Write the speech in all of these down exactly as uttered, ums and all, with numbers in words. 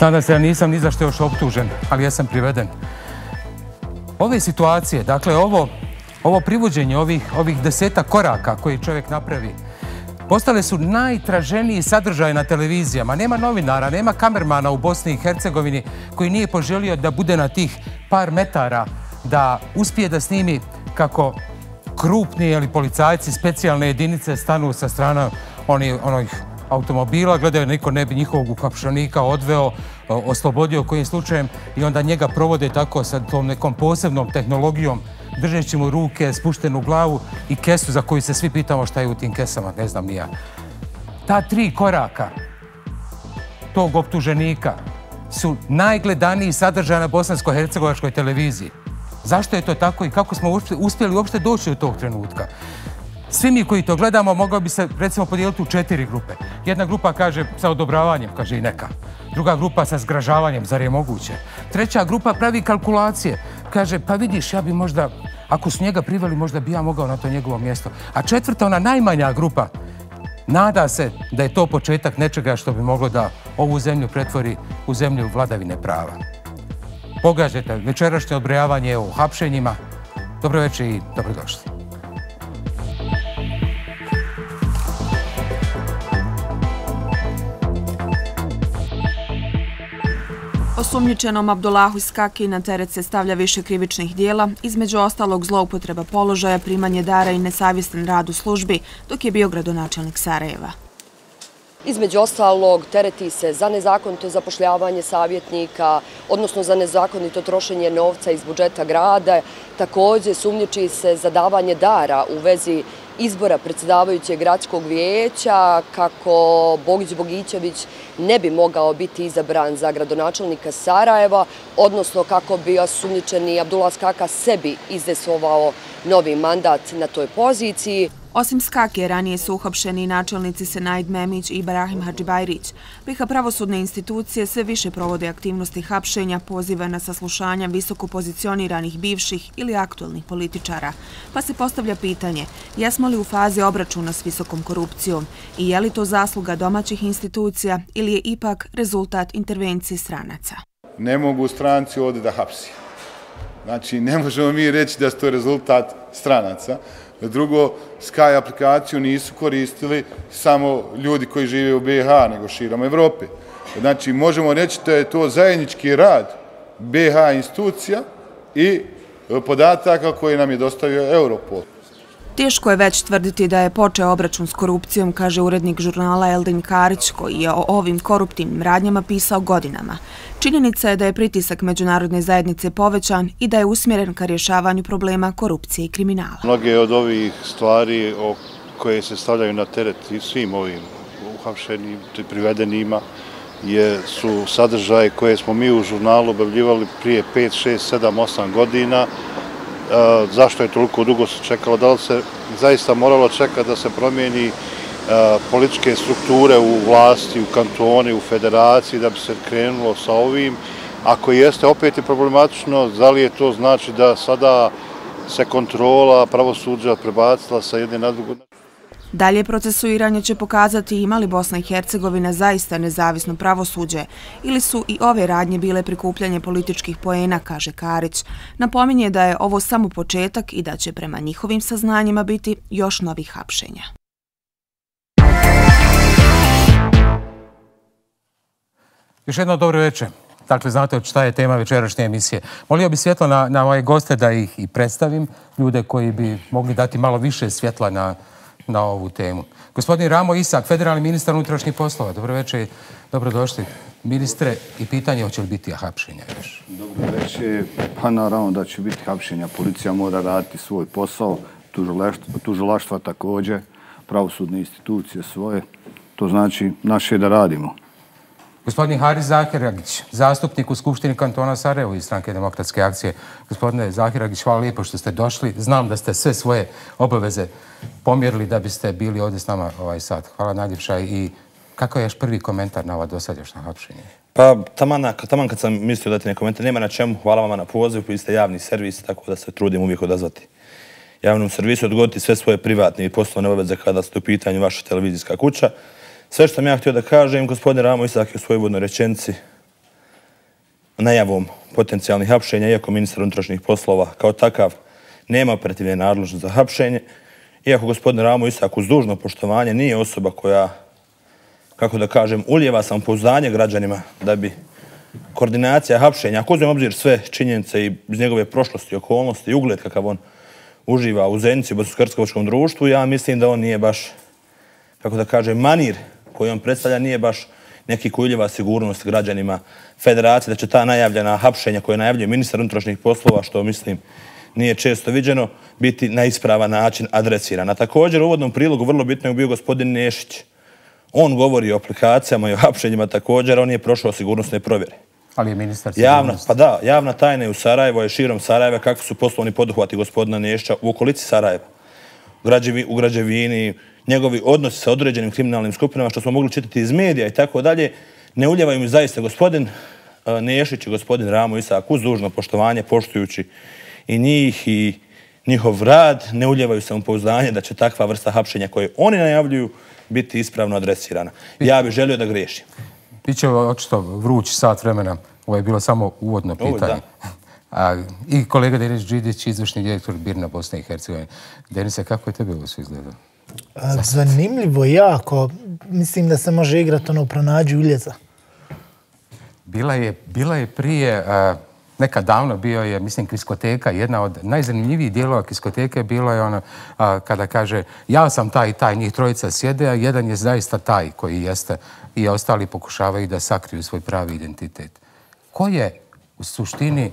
Nadam se da nisam ni za što još optužen, ali ja sam priveden. Ove situacije, dakle ovo, ovo privođenje ovih, ovih deseta koraka koje čovjek napravi, postale su najtraženiji sadržaj na televizijama. Nema novinara, nema kamermana u Bosni i Hercegovini koji nije poželio da bude na tih par metara, da uspije da snimi kako krupni ili policajci specijalne jedinice stanu sa strana onih, onih automobila, gledaju niko ne bi njihovog uhapšenika odveo, oslobodio kojim slučajem i onda njega provode tako sa tom nekom posebnom tehnologijom, držeći mu ruke, spuštenu glavu i kesu za koju se svi pitamo šta je u tim kesama, ne znam ni ja. Ta tri koraka tog optuženika su najgledaniji sadržaj na bosansko-hercegovačkoj televiziji. Zašto je to tako i kako smo uspjeli uopšte doći do tog trenutka? Svi mi koji to gledamo mogao bi se recimo podijeliti u četiri grupe. Jedna grupa kaže sa odobravanjem, kaže i neka. Druga grupa sa zgražavanjem, zar je moguće? Treća grupa pravi kalkulacije. Kaže, pa vidiš, ja bi možda, ako su njega priveli, možda bi ja mogao na to njegovo mjesto. A četvrta, ona najmanja grupa, nada se da je to početak nečega što bi moglo da ovu zemlju pretvori u zemlju vladavine prava. Pogađajte, večerašnje odbrojavanje o hapšenjima. Dobro večer i dobrodošli. Osumnjičenom Abdullahu Iskaki na teret se stavlja više krivičnih dijela, između ostalog zloupotreba položaja, primanje dara i nesavjestan rad u službi, dok je bio gradonačelnik Sarajeva. Između ostalog, tereti se za nezakonito zapošljavanje savjetnika, odnosno za nezakonito trošenje novca iz budžeta grada. Također sumnjiči se za davanje dara u vezi izbora predsjedavajućeg gradskog vijeća, kako Bogić Bogićević ne bi mogao biti izabran za gradonačelnika Sarajeva, odnosno kako bi osumnjičeni Abdullah Iskaka sebi izdesovao novi mandat na toj poziciji. Osim Skake, ranije su uhapšeni načelnici Senaid Memić i Ibrahim Hadžibajrić. Priha pravosudne institucije sve više provode aktivnosti hapšenja, poziva na saslušanja visoko pozicioniranih bivših ili aktualnih političara. Pa se postavlja pitanje, jesmo li u fazi obračuna s visokom korupcijom i je li to zasluga domaćih institucija ili je ipak rezultat intervencije stranaca? Ne mogu stranci ovdje da hapsi. Znači, ne možemo mi reći da su to rezultat stranaca. Drugo, Sky aplikaciju nisu koristili samo ljudi koji žive u B H, nego širom Evrope. Znači, možemo reći da je to zajednički rad B H institucija i podataka koje nam je dostavio Europol. Teško je već tvrditi da je počeo obračun s korupcijom, kaže urednik žurnala Eldin Karić, koji je o ovim koruptivnim radnjama pisao godinama. Činjenica je da je pritisak međunarodne zajednice povećan i da je usmjeren ka rješavanju problema korupcije i kriminala. Mnoge od ovih stvari koje se stavljaju na teret svim ovim uhapšenim i privedenima su sadržaje koje smo mi u žurnalu objavljivali prije pet, šest, sedam, osam godina. Zašto je toliko dugo se čekalo? Da li se zaista moralo čekati da se promijeni političke strukture u vlasti, u kantoni, u federaciji, da bi se krenulo sa ovim? Ako jeste, opet je problematično, da li je to znači da sada se kontrola pravosuđa prebacila sa jedne na drugu? Dalje procesuiranje će pokazati ima li Bosna i Hercegovina zaista nezavisno pravosuđe ili su i ove radnje bile prikupljanje političkih poena, kaže Karić. Napominje da je ovo samo početak i da će prema njihovim saznanjima biti još novih hapšenja. Još jedno dobro večer. Dakle, znate šta je tema večerašnje emisije. Molio bi svjetlo na, na moje goste da ih i predstavim, ljude koji bi mogli dati malo više svjetla na na ovu temu. Gospodin Ramo Isak, federalni ministar unutrašnjih poslova. Dobro večer, dobrodošli. Ministre, i pitanje hoće li biti hapšenja još? Dobro večer, pa naravno da će biti hapšenja. Policija mora raditi svoj posao, tužilaštva također, pravosudne institucije svoje. To znači naše da radimo. Gospodin Haris Zahiragić, zastupnik u Skupštini kantona Sarajevo iz Stranke demokratske akcije. Gospodine Zahiragić, hvala lijepo što ste došli. Znam da ste sve svoje obaveze pomjerili da biste bili ovdje s nama ovaj sat. Hvala najljepša i kakav je još prvi komentar na ova dosadašnja hapšenja? Pa taman kad sam mislio dati neki komentar, nema na čemu. Hvala vama na pozivu, vi ste javni servis, tako da se trudim uvijek odazvati javnom servisu, odgoditi sve svoje privatne i poslovne obaveze kada ste u pitanju vaša televizijska kuća. Sve što sam ja htio da kažem, gospodin Ramo Isak je u svojoj uvodnoj rečenici najavom potencijalnih hapšenja, iako ministar unutrašnjih poslova kao takav nema operativne nadležnosti za hapšenje, iako gospodin Ramo Isak uz dužno poštovanje nije osoba koja, kako da kažem, ulijeva samopouzdanje građanima da bi koordinacija hapšenja, ako uzmem obzir sve činjenice i iz njegove prošlosti, okolnosti i ugled kakav on uživa u Zenici, u Bosansko-Hercegovačkom društvu, ja mislim da on nije baš, kako da kažem, manir koji on predstavlja nije baš neki koji ulijeva sigurnost građanima federacije, da će ta najavljena hapšenja koje najavljuje ministar unutrašnjih poslova, što mislim nije često viđeno, biti na ispravan način adresirana. Također u uvodnom prilogu vrlo bitno je bio gospodin Nešić. On govori o aplikacijama i o hapšenjima također, on nije prošao sigurnosne provjere. Ali je ministar sigurnosti. Pa da, javna tajna je u Sarajevo, je širom Sarajeva, kakvi su poslovni poduhvati gospodina Nešića u okolici Sarajeva, u građevini, njegovi odnosi sa određenim kriminalnim skupinama, što smo mogli čitati iz medija i tako dalje, ne uljevaju mi zaista gospodin Nešić i gospodin Ramo Isak uz dužno poštovanje, poštujući i njih i njihov rad, ne uljevaju samopouzdanje da će takva vrsta hapšenja koje oni najavljuju biti ispravno adresirana. Ja bih želio da griješim. Biće očito vruć sat vremena. Ovo je bilo samo uvodno pitanje. I kolega Denis Đidić, izvršni direktor Birna Bosne i Hercegovine. Denise, kako je tebe ovo sve izgledalo? Zanimljivo, jako. Mislim da se može igrati ono pronađi uljeza. Bila je prije... Nekad davno bio je, mislim, Kriskoteka. Jedna od najzanimljivijih dijelova Kriskoteke bilo je ono kada kaže ja sam taj i taj, njih trojica sjede, a jedan je zaista taj koji jeste i ostali pokušavaju da sakriju svoj pravi identitet. Ko je u suštini,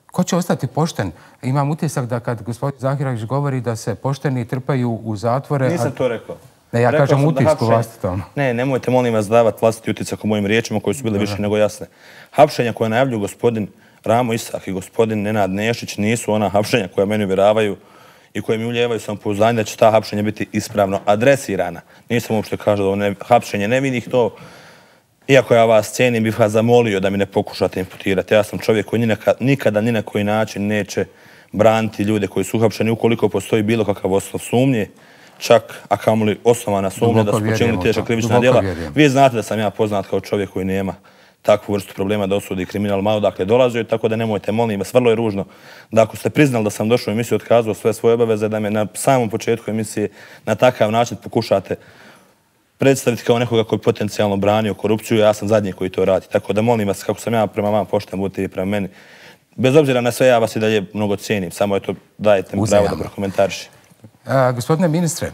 ko će ostati pošten? Imam utisak da kad gospodin Zahiragić govori da se pošteni trpaju u zatvore... Nisam to rekao. Ne, ja kažem utisku vlastitom. Ne, nemojte molim vas davati vlastiti utisak o mojim riječima koji su bile više nego jasne. Hapšenja koje najavljuju gospodin Ramo Isak i gospodin Nenad Nešić nisu ona hapšenja koja meni uvjeravaju i koje mi ulijevaju samopouzdanje da će ta hapšenja biti ispravno adresirana. Nisam uopšte kažu da hapšenje nevinih to, iako ja vas cijenim, bih vas zamolio da mi ne pokušate imputirati. Ja sam čovjek koji nikada ni na koji način neće braniti ljude koji su uhapšeni ukoliko postoji bilo kakav osnov sumnje, čak a kamoli osnovana sumnja da su počinili teška krivična djela. Vi znate da sam ja poznat kao čovjek koji nema takvu vrstu problema da osudi kriminal malo dakle dolazio, tako da nemojte, molim vas, vrlo je ružno da ako ste priznali da sam došao u emisiju, otkazao sve svoje obaveze, da me na samom početku emisije na takav način pokušate predstaviti kao nekoga koji potencijalno branio korupciju, ja sam zadnji koji to radi. Tako da molim vas, kako sam ja prema vama pošten, budite i prema meni. Bez obzira na sve, ja vas i dalje mnogo cijenim, samo eto dajte mi pravo da prokomentarišem. Gospodine ministre,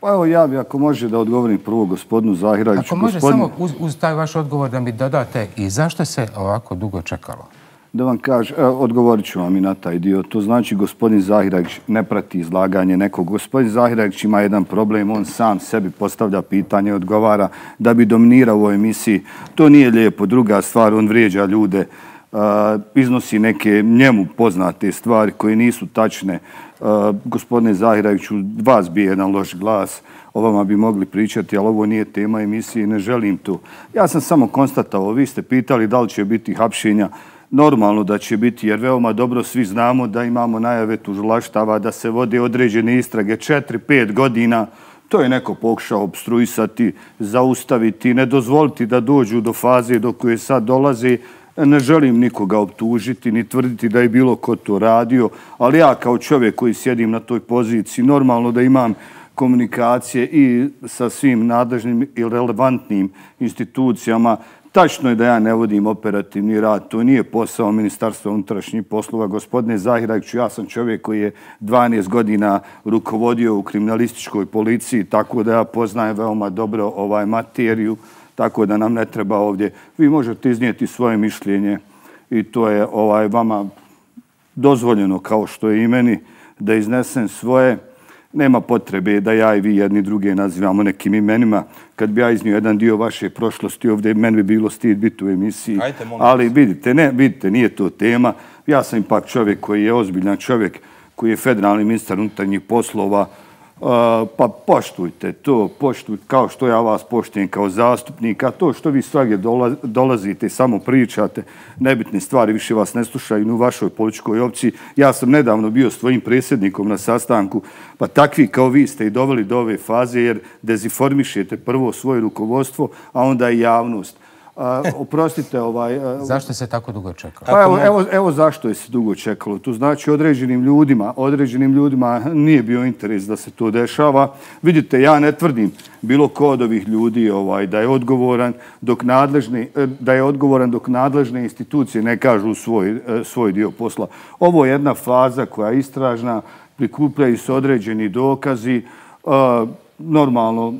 pa evo ja bi, ako može da odgovorim prvo gospodinu Zahiragiću. Ako može samo uz taj vaš odgovor da mi dodate i zašto se ovako dugo čekalo? Da vam kažem, odgovorit ću vam i na taj dio. To znači gospodin Zahiragić ne prati izlaganje nekog. Gospodin Zahiragić ima jedan problem, on sam sebi postavlja pitanje, odgovara da bi dominirao u ovoj emisiji. To nije lijepo. Druga stvar, on vrijeđa ljude, iznosi neke njemu poznate stvari koje nisu tačne. Gospodine Zahiragiću, vas bi jedan loš glas, o vama bi mogli pričati, ali ovo nije tema emisije i ne želim to. Ja sam samo konstatao, vi ste pitali da li će biti hapšenja. Normalno da će biti, jer veoma dobro svi znamo da imamo najave tužilaštava, da se vode određene istrage četiri pet godina. To je neko pokušao obstruisati, zaustaviti, ne dozvoliti da dođu do faze do koje sad dolaze. Ne želim nikoga optužiti, ni tvrditi da je bilo ko to radio, ali ja kao čovjek koji sjedim na toj poziciji, normalno da imam komunikacije i sa svim nadležnim i relevantnim institucijama. Tačno je da ja ne vodim operativni rad, to nije posao Ministarstva unutrašnjih poslova. Gospodine Zahiragiću, ja sam čovjek koji je dvanaest godina rukovodio u kriminalističkoj policiji, tako da ja poznajem veoma dobro ovaj materiju, tako da nam ne treba ovdje. Vi možete iznijeti svoje mišljenje i to je ovaj vama dozvoljeno, kao što je i meni, da iznesem svoje. Nema potrebe da ja i vi jedni druge nazivamo nekim imenima. Kad bi ja iznio jedan dio vaše prošlosti ovdje, meni bi bilo stid biti u emisiji. Ali vidite, ne, vidite, nije to tema. Ja sam ipak čovjek koji je ozbiljan čovjek, koji je federalni ministar unutarnjih poslova. Pa poštujte to, poštujte kao što ja vas poštujem kao zastupnik, a to što vi svagdje dolazite i samo pričate, nebitne stvari više vas ne slušaju ni u vašoj političkoj opciji. Ja sam nedavno bio s tvojim predsjednikom na sastanku, pa takvi kao vi ste i doveli do ove faze jer dezinformišete prvo svoje rukovodstvo, a onda i javnost. Oprostite, ovaj... Zašto se tako dugo čekalo? Pa evo, evo, evo zašto je se dugo čekalo. Tu znači određenim ljudima, određenim ljudima nije bio interes da se to dešava. Vidite, ja ne tvrdim bilo ko od ovih ljudi ovaj, da je odgovoran dok nadležne, da je odgovoran dok nadležne institucije ne kažu svoj, svoj dio posla. Ovo je jedna faza koja je istražna, prikupljaju se određeni dokazi. Normalno,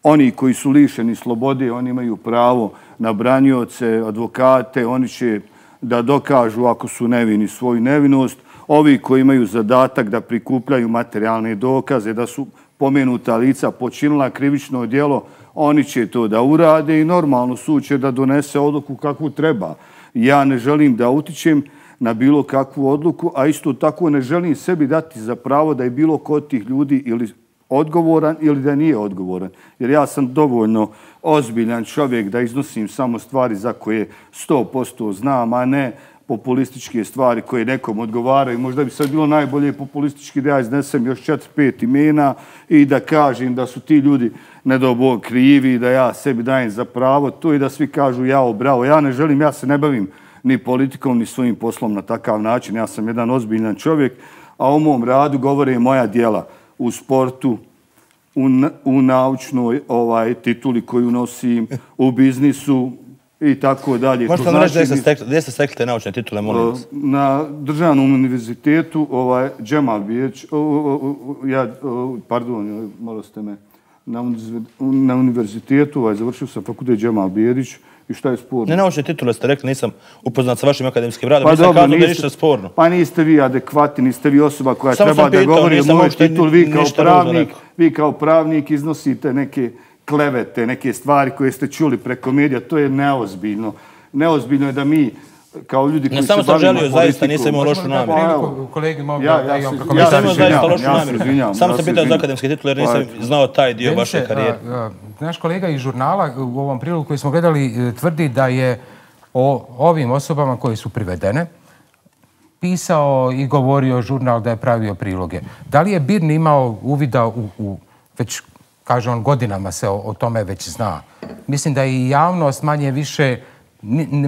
oni koji su lišeni slobode, oni imaju pravo na branioce, advokate, oni će da dokažu ako su nevini svoju nevinost. Ovi koji imaju zadatak da prikupljaju materijalne dokaze, da su pomenuta lica počinila krivično djelo, oni će to da urade i normalno sud će da donese odluku kakvu treba. Ja ne želim da utičem na bilo kakvu odluku, a isto tako ne želim sebi dati za pravo da je bilo ko od tih ljudi ili odgovoran ili da nije odgovoran. Jer ja sam dovoljno ozbiljan čovjek da iznosim samo stvari za koje sto posto znam, a ne populističke stvari koje nekom odgovaraju. Možda bi sad bilo najbolje populistički da ja iznesem još četiri, pet imena i da kažem da su ti ljudi nedobog krivi, da ja sebi dajem za pravo to i da svi kažu jao, bravo. Ja ne želim, ja se ne bavim ni politikom, ni svojim poslom na takav način. Ja sam jedan ozbiljan čovjek, a o mom radu govore moja djela u sportu, u, u naučnoj ovaj, tituli koju nosim, u biznisu i tako dalje. Možete nam reći gdje ste stekli te naučne titule, molim vas? Na državnom univerzitetu, ovaj, Džemal Bijeć, ja, pardon, malo ste me, na, na univerzitetu, ovaj, završio sam fakultet Džemal Bijedić. I šta je sporno? Ne naučne titule ste rekli, nisam upoznat sa vašim akademskim radom, pa nisam dobro, kazao da je ništa sporno. Pa niste vi adekvatni, niste vi osoba koja Samo treba da govori o moj titul. Vi kao, pravnik, vi kao pravnik iznosite neke klevete, neke stvari koje ste čuli preko medija. To je neozbiljno. Neozbiljno je da mi kao ljudi koji se bavimo politikom... Ne, samo sam želio, zaista nisam imao lošu namjeru. Kolegi mogu ja, da ja, imam ja, ja, nisam imao zaista lošu ja namjeru. Samo sam pitao za akademske titule jer nisam znao taj dio vaše karijere. Naš kolega iz žurnala u ovom prilogu koji smo gledali tvrdi da je o ovim osobama koje su privedene pisao i govorio žurnal da je pravio priloge. Da li je Birni imao uvida u, u već, kaže on, godinama se o, o tome već zna. Mislim da i javnost manje više,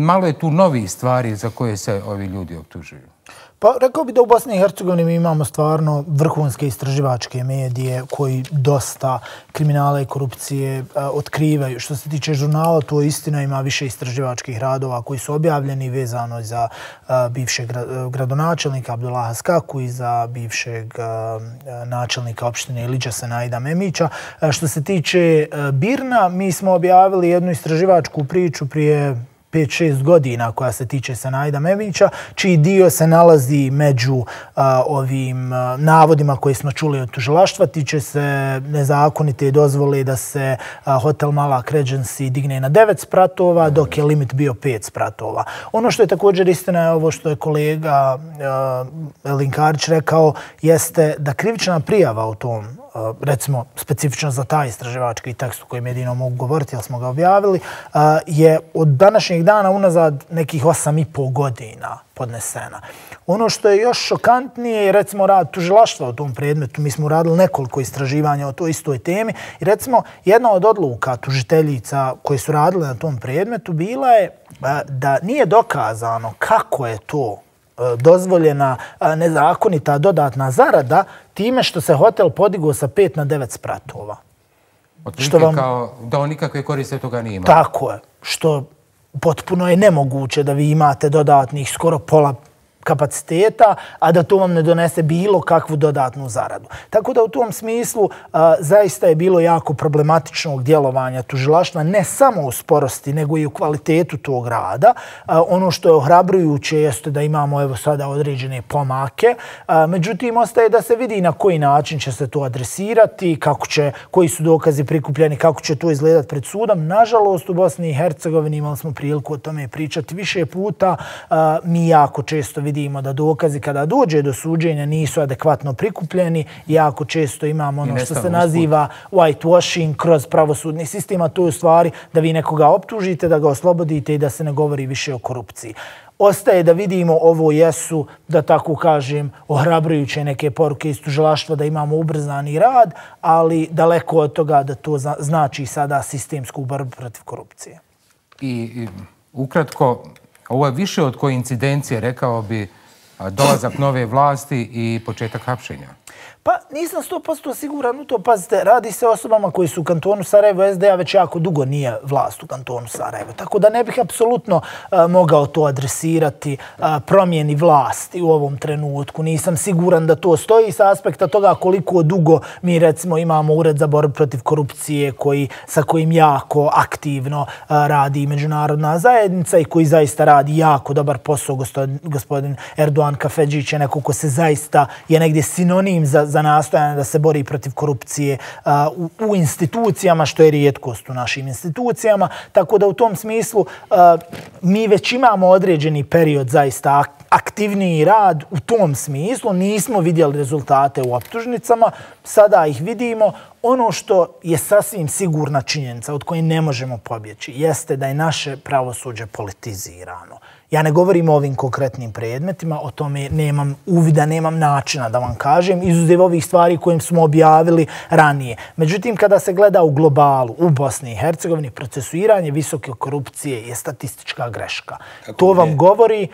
malo je tu novi stvari za koje se ovi ljudi optužuju. Pa rekao bi da u Bosni i Hercegovini mi imamo stvarno vrhunske istraživačke medije koji dosta kriminala i korupcije a, otkrivaju. Što se tiče žurnala, to istina, ima više istraživačkih radova koji su objavljeni vezano za a, bivšeg gradonačelnika Abdullaha Skaku i za bivšeg a, načelnika opštine Ilidža Senaida Memića. A, što se tiče a, Birna, mi smo objavili jednu istraživačku priču prije pet šest godina koja se tiče Senaida Memića, čiji dio se nalazi među a, ovim a, navodima koje smo čuli od tužilaštva. Tiče se nezakonite dozvole da se a, hotel Malak Regency digne na devet spratova, dok je limit bio pet spratova. Ono što je također istina je ovo što je kolega a, Elin Karić rekao, jeste da krivična prijava u tom, recimo specifično za taj istraživački tekst u kojem jedino mogu govoriti, jer smo ga objavili, je od današnjeg dana unazad nekih osam i pol godina podnesena. Ono što je još šokantnije je recimo rad tužilaštva u tom predmetu. Mi smo uradili nekoliko istraživanja o toj istoj temi i recimo jedna od odluka tužiteljica koje su radile na tom predmetu bila je da nije dokazano kako je to dozvoljena nezakonita dodatna zarada time što se hotel podigao sa pet na devet spratova. Otprilike vam... kao da on nikakve koriste toga nije imao. Tako je. Što potpuno je nemoguće da vi imate dodatnih skoro pola kapaciteta, a da to vam ne donese bilo kakvu dodatnu zaradu. Tako da u tom smislu a, zaista je bilo jako problematičnog djelovanja tužilaštva, ne samo u sporosti, nego i u kvalitetu tog rada. A, ono što je ohrabrujuće jeste da imamo evo sada određene pomake. A, međutim, ostaje da se vidi na koji način će se to adresirati, kako će, koji su dokazi prikupljeni, kako će to izgledati pred sudom. Nažalost, u Bosni i Hercegovini imali smo priliku o tome pričati više puta. A, mi jako često vidimo vidimo da dokazi kada dođe do suđenja nisu adekvatno prikupljeni. Jako često imamo ono što se naziva whitewashing kroz pravosudni sistem, a to je u stvari da vi nekoga optužite, da ga oslobodite i da se ne govori više o korupciji. Ostaje da vidimo, ovo jesu, da tako kažem, ohrabrujuće neke poruke iz tužilaštva da imamo ubrzani rad, ali daleko od toga da to znači sada sistemsku borbu protiv korupcije. i ukratko, ovo je više od koincidencije, rekao bi, dolazak nove vlasti i početak hapšenja. Pa nisam sto posto siguran u to. Pazite, radi se o osobama koji su u kantonu Sarajevo. S D A već jako dugo nije vlast u kantonu Sarajevo. Tako da ne bih apsolutno uh, mogao to adresirati uh, promjeni vlasti u ovom trenutku. Nisam siguran da to stoji sa aspekta toga koliko dugo mi recimo imamo Ured za borbu protiv korupcije koji, sa kojim jako aktivno uh, radi međunarodna zajednica i koji zaista radi jako dobar posao. Gospodin, gospodin Erdoğan Kafedžić je neko ko se zaista je negdje sinonim za za nastojanje da se bori protiv korupcije uh, u, u institucijama, što je rijetkost u našim institucijama. Tako da u tom smislu uh, mi već imamo određeni period zaista aktivniji rad u tom smislu. Nismo vidjeli rezultate u optužnicama, sada ih vidimo. Ono što je sasvim sigurna činjenica od koje ne možemo pobjeći jeste da je naše pravosuđe politizirano. Ja ne govorim o ovim konkretnim predmetima, o tome nemam uvida, nemam načina da vam kažem, izuzev ovih stvari kojim smo objavili ranije. Međutim, kada se gleda u globalu, u Bosni i Hercegovini, procesuiranje visoke korupcije je statistička greška. Kako to vam je? Govori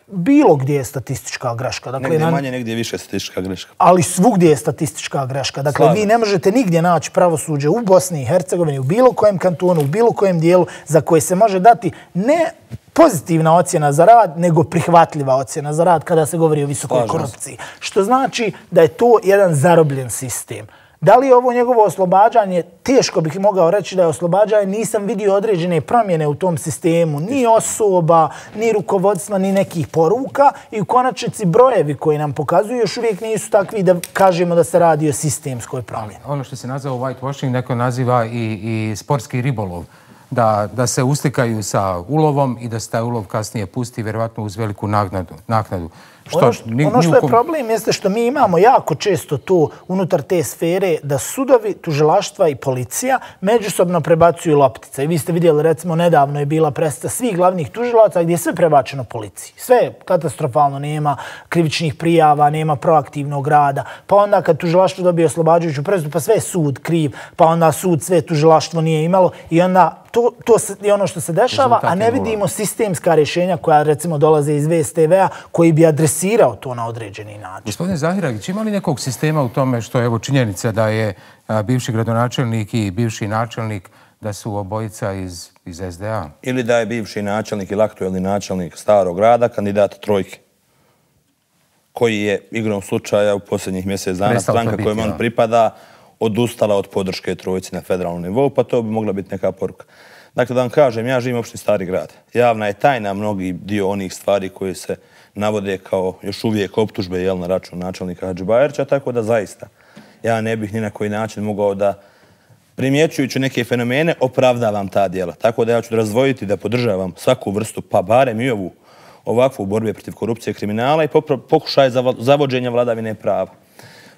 bilo gdje je statistička greška. Dakle, negdje manje, negdje više statistička greška. Ali svugdje je statistička greška. Dakle, Slažem. Vi ne možete nigdje naći pravosuđe u Bosni i Hercegovini, u bilo kojem kantonu, u bilo kojem dijelu za koje se može dati ne pozitivna ocjena za rad, nego prihvatljiva ocjena za rad kada se govori o visokoj Slažem. korupciji. Što znači da je to jedan zarobljen sistem. Da li je ovo njegovo oslobađanje? Teško bih mogao reći da je oslobađanje. Nisam vidio određene promjene u tom sistemu. Ni osoba, ni rukovodstva, ni nekih poruka. I u konačnici brojevi koji nam pokazuju još uvijek nisu takvi da kažemo da se radi o sistemskoj promjeni. Ono što se naziva whitewashing, neko naziva i, i sportski ribolov. Da, da se uslikaju sa ulovom i da se taj ulov kasnije pusti, vjerovatno uz veliku naknadu. naknadu. Što, ono što, ni, ono što je problem jeste što mi imamo jako često to unutar te sfere da sudovi, tužilaštva i policija međusobno prebacuju loptice. I vi ste vidjeli, recimo, nedavno je bila predstava svih glavnih tužilaca gdje je sve prebačeno policiji. Sve je katastrofalno, nema krivičnih prijava, nema proaktivnog rada. Pa onda kad tužilaštvo dobije oslobađajuću presudu, pa sve je sud kriv, pa onda sud sve tužilaštvo nije imalo i onda to, to je ono što se dešava, a ne vidimo sistemska rješenja koja recimo dolaze iz V S T V-a koji bi adresirao to na određeni način. Gospodine Zahiragić, ima li nekog sistema u tome što je evo činjenica da je a, bivši gradonačelnik i bivši načelnik da su obojica iz, iz S D A? Ili da je bivši načelnik ili aktuelni načelnik Starog grada kandidat trojke, koji je igrom slučaja u posljednjih mjesec dana stranka kojom on pripada odustala od podrške trojci na federalnom nivou, pa to bi mogla biti neka poruka. Dakle, da vam kažem, ja živim u opštini Stari grad. Javna je tajna mnogi dio onih stvari koje se navode kao još uvijek optužbe jel, na račun načelnika Hadžibajrića, tako da zaista ja ne bih ni na koji način mogao da primjećujući neke fenomene opravdavam ta djela. Tako da ja ću razdvojiti da podržavam svaku vrstu, pa barem i ovu ovakvu borbe protiv korupcije i kriminala i pokušaj zavođenja vladavine prava.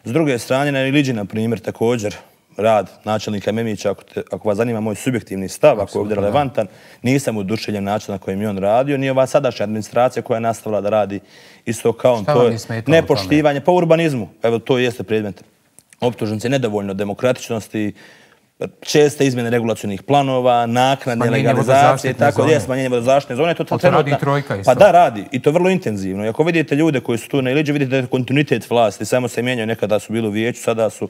S druge strane, na Iliđi, na primjer, također rad načelnika Memića, ako, te, ako vas zanima moj subjektivni stav, ako je ovdje relevantan, nisam oduševljen način na kojem je on radio, ni ova sadašnja administracija koja je nastavila da radi isto kao on. To je nepoštivanje po urbanizmu. Evo, to jeste predmet optužnice, nedovoljno demokratičnosti, česte izmjene regulacionih planova, naknadne legalizacije, tako je, smanjenje vodozaštitne zone. To, to, to radi trojka isto. Pa da, radi. I to vrlo intenzivno. I ako vidite ljude koji su tu na Iliđi, vidite da je kontinuitet vlasti. Samo se mijenjaju, nekada su bili u vijeću, sada su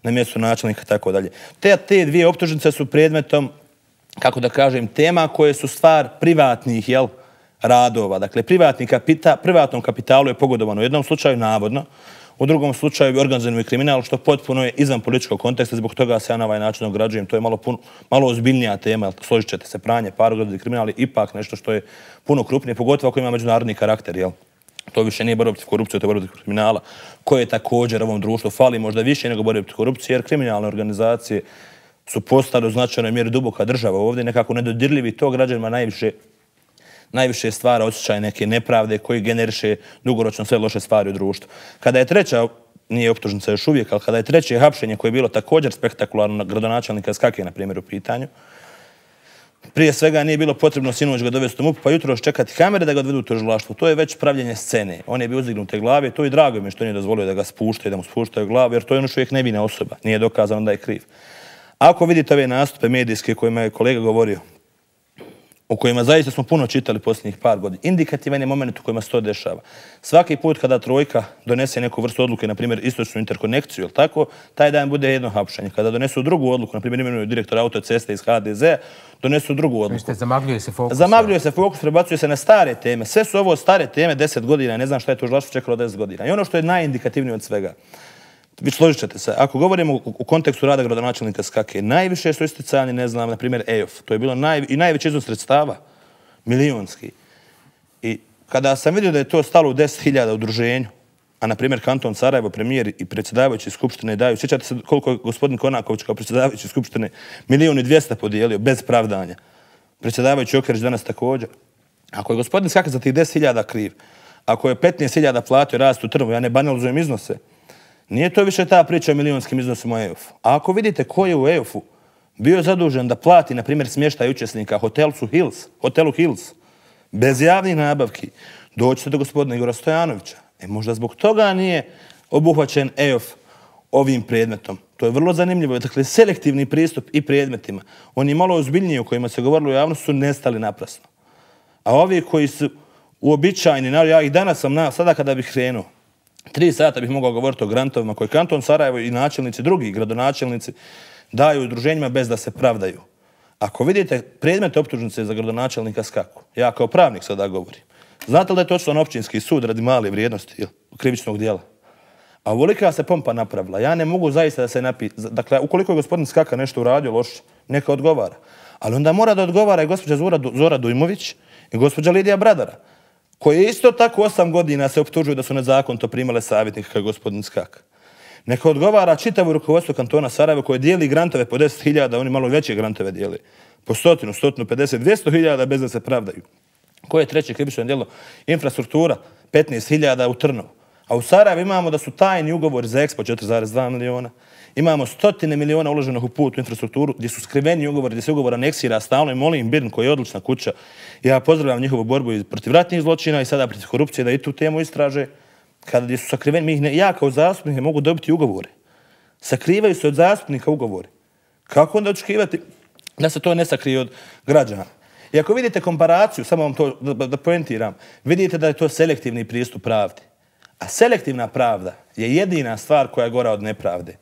na mjestu načelnika i tako dalje. Te, te dvije optužnice su predmetom, kako da kažem, tema koje su stvar privatnih, jel, radova. Dakle, privatni kapita, privatnom kapitalu je pogodovano u jednom slučaju, navodno, u drugom slučaju organizirani kriminal, što potpuno je izvan političkog konteksta, zbog toga se ja na ovaj način ograđujem. To je malo, puno, malo ozbiljnija tema, složit ćete se, pranje, par organizirani kriminal je ipak nešto što je puno krupnije, pogotovo ako ima međunarodni karakter, jel? To više nije borba protiv korupcije, to je borba protiv kriminala, koje također ovom društvu fali možda više nego borba protiv korupcije, jer kriminalne organizacije su postale u značajnoj mjeri duboka država ovdje, nekako nedodirljivi, to građanima najviše najviše stvara osjećaj neke nepravde koji generiše dugoročno sve loše stvari u društvu. Kada je treća, nije optužnica još uvijek, ali kada je treće hapšenje koje je bilo također spektakularno na gradonačelnika Skake, na primjer, u pitanju, prije svega nije bilo potrebno sinoć ga dovesti u MUP, pa jutro čekati kamere da ga odvedu u tužilaštvo. To je već pravljenje scene. On je bio uzdignute glave, to i drago mi što nije dozvolio da ga spuštaju, da mu spuštaju glavu, jer to je ono što uvijek nevina osoba. Nije dokazano da je kriv. Ako vidite ove nastupe medijske kojima je kolega govorio, o kojima zaista smo puno čitali posljednjih par godina. Indikativan je moment u kojima se to dešava. Svaki put kada trojka donese neku vrstu odluke, na primjer istočnu interkonekciju, ili tako, taj dan bude jedno hapšenje. Kada donesu drugu odluku, na primjer imenuju direktor autoceste iz H D Z, donesu drugu odluku. Mislite, zamagljuje se fokus? Zamagljuje se fokus, prebacuje se na stare teme. Sve su ovo stare teme, deset godina, ne znam šta je tužilaštvo čekalo deset godina. I ono što je najindikativnije od svega, vi složit ćete se, ako govorimo u kontekstu rada gradonačelnika Skake, najviše su isticani, ne znam, na primjer E O F. To je bilo naj, i najveći iznos sredstava, milijonski. I kada sam vidio da je to stalo u deset hiljada udruženju, a na primjer kanton Sarajevo, premijer i predsjedavajući Skupštine daju, sjećate se koliko je gospodin Konaković kao predsjedavajući Skupštine milijun i dvijesta podijelio bez pravdanja. Predsjedavajući Okerić danas također. Ako je gospodin Skake za tih deset hiljada kriv, ako je petnaest hiljada platio rast u Trnovu, ja ne banalizujem iznose, nije to više ta priča o milijunskim iznosima u E O F-u. A ako vidite ko je u E O F-u bio zadužen da plati, na primjer, smještaj učesnika hotelu Hills, hotelu Hills, bez javnih nabavki, doćete do gospodina Igora Stojanovića. E, možda zbog toga nije obuhvaćen E O F ovim predmetom. To je vrlo zanimljivo. Dakle, selektivni pristup i predmetima. Oni malo ozbiljniji o kojima se govorilo u javnosti su nestali naprasno. A ovi koji su uobičajeni, ja ih danas sam, na, sada kada bih krenuo, tri sata bih mogao govoriti o grantovima koje kanton Sarajevo i načelnici, drugi gradonačelnici daju udruženjima bez da se pravdaju. Ako vidite predmet optužnice za gradonačelnika Skaku, ja kao pravnik sada govorim, znate li da je to otišlo na općinski sud radi male vrijednosti krivičnog dijela? A ovolika se pompa napravila. Ja ne mogu zaista da se napi... Dakle, ukoliko je gospodin Skaka nešto uradio loše, neka odgovara. Ali onda mora da odgovara i gospođa Zora Dujmović i gospođa Lidija Bradara, koje isto tako osam godina se optužuju da su nezakonito primale savjetnika kao gospodin Skaka. Neka odgovara čitavo rukovodstvo kantona Sarajevo koje dijeli grantove po deset hiljada, oni malo veće grantove dijeli, po stotinu, stotinu pedeset, dvjesto hiljada bez da se pravdaju. Koje je treće krivično djelo? Infrastruktura, petnaest hiljada u Trnovu. A u Sarajevu imamo da su tajni ugovori za Expo četiri zarez dva miliona. Imamo stotine miliona uloženih u put u infrastrukturu gdje su skriveni ugovori, gdje se ugovor aneksira stalno i molim Birn koji je odlična kuća. Ja pozdravljam njihovu borbu protiv ratnih zločina i sada protiv korupcije da i tu temu istraže. Kada su sakriveni, mi ih ne, ja kao zastupnik ne mogu dobiti ugovore. Sakrivaju se od zastupnika ugovore. Kako onda očekivati da se to ne sakrije od građana? I ako vidite komparaciju, samo vam to da, da poentiram, vidite da je to selektivni pristup pravdi. A selektivna pravda je jedina stvar koja je gora od nepravde.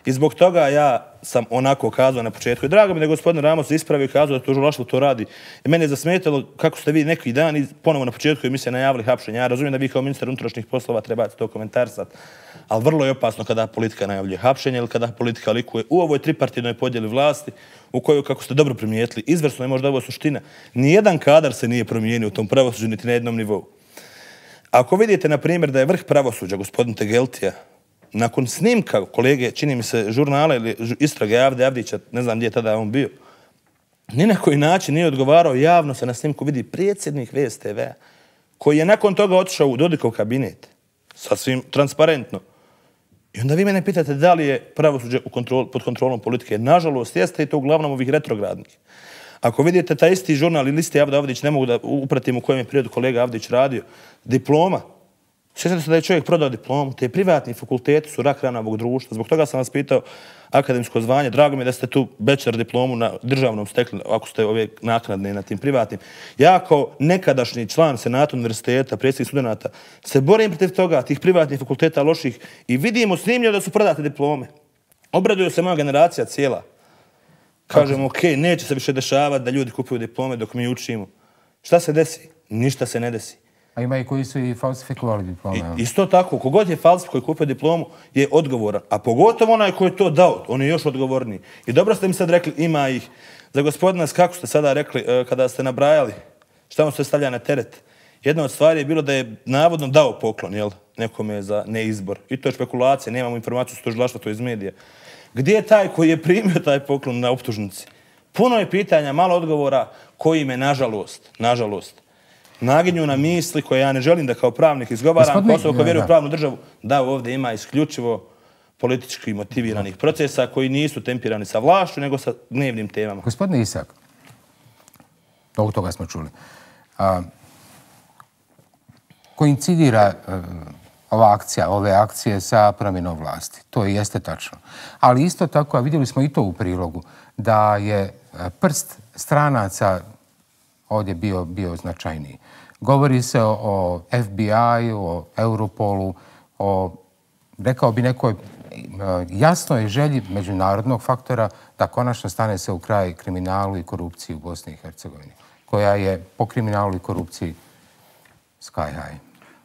I zbog toga ja sam onako kazao na početku. I drago mi da je gospodin Ramos ispravio i kazao da tužilaštvo to radi. I mene je zasmetalo kako ste vi neki dan i ponovo na početku emisije najavili hapšenje. Ja razumijem da vi kao ministar unutrašnjih poslova trebate to komentarisati. Ali vrlo je opasno kada politika najavljuje hapšenje ili kada politika likuje u ovoj tripartitnoj podjeli vlasti u kojoj, kako ste dobro primijetili, izvrsno je možda ovo suština. Nijedan kadar se nije promijenio u tom pravosuđu niti na jednom nivou. Ako vidite, na primjer, da je vrh pravosuđa, gospodin Tegeltija, nakon snimka kolege, čini mi se, žurnala ili istrage Avde Avdića, ne znam gdje je tada on bio, ni na koji način nije odgovarao, javno se na snimku vidi predsjednik V S T V-a, koji je nakon toga otišao u Dodikov kabinet, sasvim transparentno. I onda vi mene pitate da li je pravosuđe u kontrol, pod kontrolom politike. Nažalost, jeste i to uglavnom ovih retrogradnih. Ako vidite taj isti žurnal ili isti Avda Avdić, ne mogu da upratim u kojem je periodu kolega Avdić radio, diploma. Sjećate se da je čovjek prodao diplomu, te privatni fakulteti su rak rana ovog društva. Zbog toga sam vas pitao akademsko zvanje. Drago mi je da ste tu bachelor diplomu na državnom stekli, ako ste ove naknadne na tim privatnim. Ja kao nekadašnji član Senata univerziteta, predsjednik studenata, se borim protiv toga, tih privatnih fakulteta loših i vidimo snimljeno da su prodate diplome. Obraduje se moja generacija cijela. Kažemo, ok, neće se više dešavati da ljudi kupuju diplome dok mi učimo. Šta se desi? Ništa se ne desi. A ima i koji su i falsifikovali diplome. I, isto tako, kogod je falsif koji kupio diplomu je odgovoran. A pogotovo onaj koji je to dao, on je još odgovorniji. I dobro ste mi sad rekli, ima ih. Za gospodina, kako ste sada rekli, kada ste nabrajali šta mu se stavlja na teret, jedna od stvari je bilo da je navodno dao poklon, jel, nekome za neizbor. I to je špekulacija, nemamo informaciju s tužilaštva, to iz medija. Gdje je taj koji je primio taj poklon na optužnici? Puno je pitanja, malo odgovora koji me, nažalost, nažalost, naginju na misli koje ja ne želim da kao pravnik izgovaram, kao osoba koja vjeruje u pravnu državu, da ovdje ima isključivo politički motiviranih procesa koji nisu tempirani sa vlašću, nego sa dnevnim temama. Gospodine Isak, ovog toga smo čuli, a, koincidira a, ova akcija, ove akcije sa promjenom vlasti. To i jeste tačno. Ali isto tako, a vidjeli smo i to u prilogu, da je prst stranaca ovdje bio, bio značajniji. Govori se o, o F B I-u, o Europolu, o, rekao bi, nekoj jasnoj želji međunarodnog faktora da konačno stane se u kraj kriminalu i korupciji u Bosni i Hercegovini, koja je po kriminalu i korupciji sky high.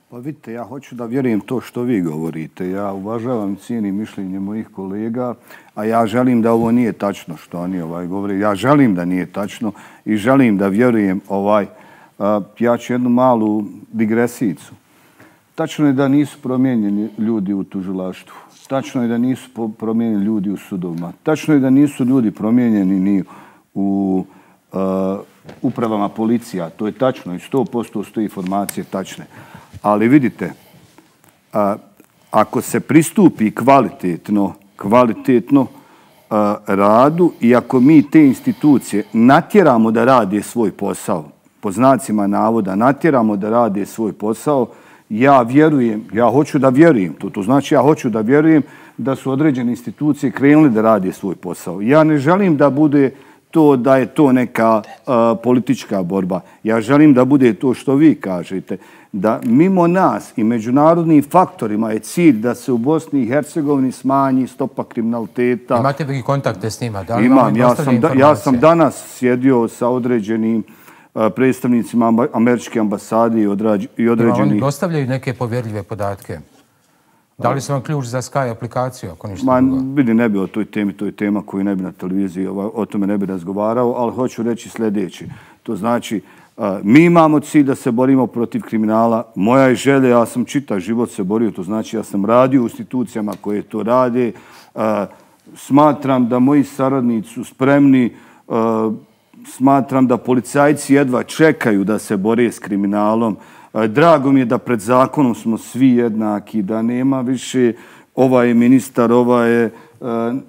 Pa vidite, ja hoću da vjerujem to što vi govorite. Ja uvažavam i cijenim mišljenje mojih kolega, a ja želim da ovo nije tačno što oni ovaj govore. Ja želim da nije tačno i želim da vjerujem ovaj. Ja ću jednu malu digresijicu. Tačno je da nisu promijenjeni ljudi u tužilaštvu. Tačno je da nisu promijenjeni ljudi u sudovima. Tačno je da nisu ljudi promijenjeni ni u uh, upravama policija. To je tačno i sto posto su te informacije tačne. Ali vidite, uh, ako se pristupi kvalitetno, kvalitetno uh, radu i ako mi te institucije natjeramo da rade svoj posao, po znacima navoda natjeramo da rade svoj posao, ja vjerujem, ja hoću da vjerujem, to, to znači ja hoću da vjerujem da su određene institucije krenule da rade svoj posao. Ja ne želim da bude to da je to neka uh, politička borba. Ja želim da bude to što vi kažete, da mimo nas i međunarodnim faktorima je cilj da se u Bosni i Hercegovini smanji stopa kriminaliteta. Imate vi kontakte s njima? Da li Imam, ja sam, da, ja sam danas sjedio sa određenim predstavnicima američke ambasade i određenih... Oni dostavljaju neke povjerljive podatke. Da li su vam ključ za Sky aplikaciju, ako ništa Ma, drugo? Vidi, ne bi o toj temi, to je tema koju ne bi na televiziji, o tome ne bi razgovarao, ali hoću reći sljedeće. To znači, mi imamo cilj da se borimo protiv kriminala. Moja je želja, ja sam čitav život se borio, to znači ja sam radio u institucijama koje to rade. Smatram da moji saradnici su spremni. Smatram da policajci jedva čekaju da se bore s kriminalom. Drago mi je da pred zakonom smo svi jednaki, da nema više ovaj je ministar, ovaj je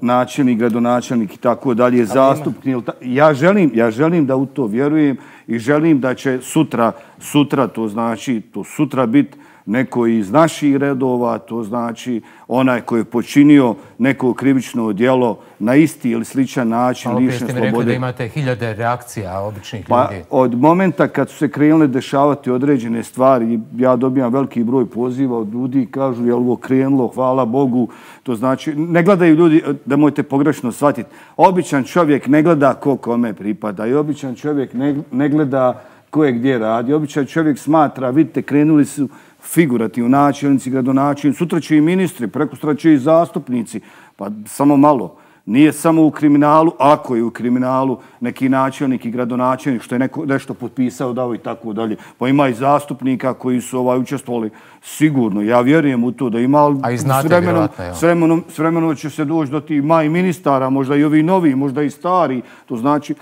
načelnik, gradonačelnik i tako dalje, zastupnik. Ja želim, ja želim da u to vjerujem i želim da će sutra, sutra to znači, to sutra biti neko iz naših redova, to znači onaj koji je počinio neko krivično djelo na isti ili sličan način lišen slobode. Ali opet ste mi rekli da imate hiljade reakcija običnih pa, ljudi. Od momenta kad su se krenule dešavati određene stvari, ja dobijam veliki broj poziva od ljudi i kažu je li ovo krenulo, hvala Bogu. To znači, ne gledaju ljudi, da mojete pogrešno shvatiti, običan čovjek ne gleda ko kome pripada i običan čovjek ne, ne gleda ko je gdje radi. Običan čovjek smatra, vidite, krenuli su figurativni načelnici, gradonačelnici, sutra će i ministri, prekosutra će i zastupnici. Pa samo malo. Nije samo u kriminalu, ako je u kriminalu neki načelnik i gradonačelnik što je neko, nešto potpisao, dao i tako dalje. Pa ima i zastupnika koji su ovaj, učestvovali sigurno. Ja vjerujem u to da ima... A i znate vjerovatno, ja. S vremenom, s vremenom će se doći do tih maj ministara, možda i ovi novi, možda i stari. To znači...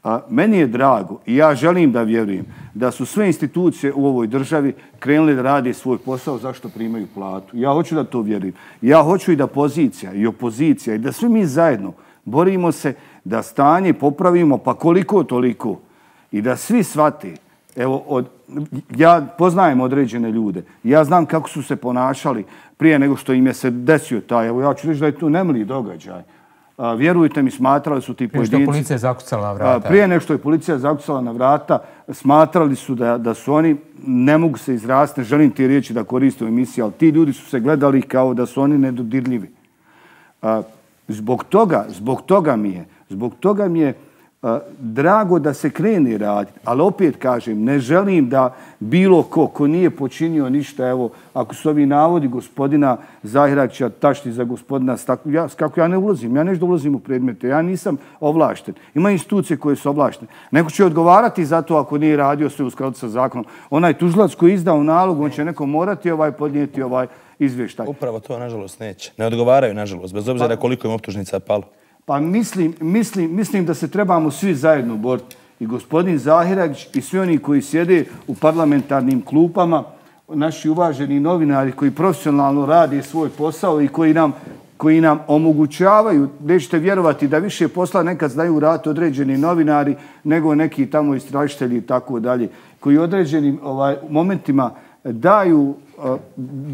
A meni je drago i ja želim da vjerujem da su sve institucije u ovoj državi krenule da rade svoj posao zašto primaju platu. Ja hoću da to vjerujem. Ja hoću i da pozicija i opozicija i da svi mi zajedno borimo se da stanje popravimo pa koliko toliko i da svi shvate. Evo, od, ja poznajem određene ljude. Ja znam kako su se ponašali prije nego što im je se desio taj. Evo, ja ću reći da je to nemili događaj. A, vjerujte mi, smatrali su ti pojedinci... Prije što je policija zakucala na vrata. Prije nego što je policija zakucala na vrata, smatrali su da, da su oni, ne mogu se izrasti, ne želim ti riječi da koriste u emisiji, ali ti ljudi su se gledali kao da su oni nedodirljivi. A, zbog toga, zbog toga mi je, zbog toga mi je a, drago da se krene raditi, ali opet kažem, ne želim da bilo ko, ko nije počinio ništa, evo, ako su ovi navodi gospodina Zahiračića tašti za gospodina Staklu, ja, kako ja ne ulazim, ja nešto ulazim u predmete, ja nisam ovlašten. Ima institucije koje su ovlaštene. Neko će odgovarati za to ako nije radio sve u skladu sa zakonom. Onaj tužilac koji je izdao nalog, on će neko morati ovaj podnijeti ovaj izvještaj. Upravo to, nažalost, neće. Ne odgovaraju, nažalost, bez obzira koliko im optužnica palo. Pa mislim, mislim, mislim da se trebamo svi zajedno boriti. I gospodin Zahiragić i svi oni koji sjede u parlamentarnim klupama, naši uvaženi novinari koji profesionalno rade svoj posao i koji nam, koji nam omogućavaju, nećete vjerovati da više posla nekad znaju raditi određeni novinari nego neki tamo istražitelji i tako dalje, koji određenim ovaj, momentima daju uh,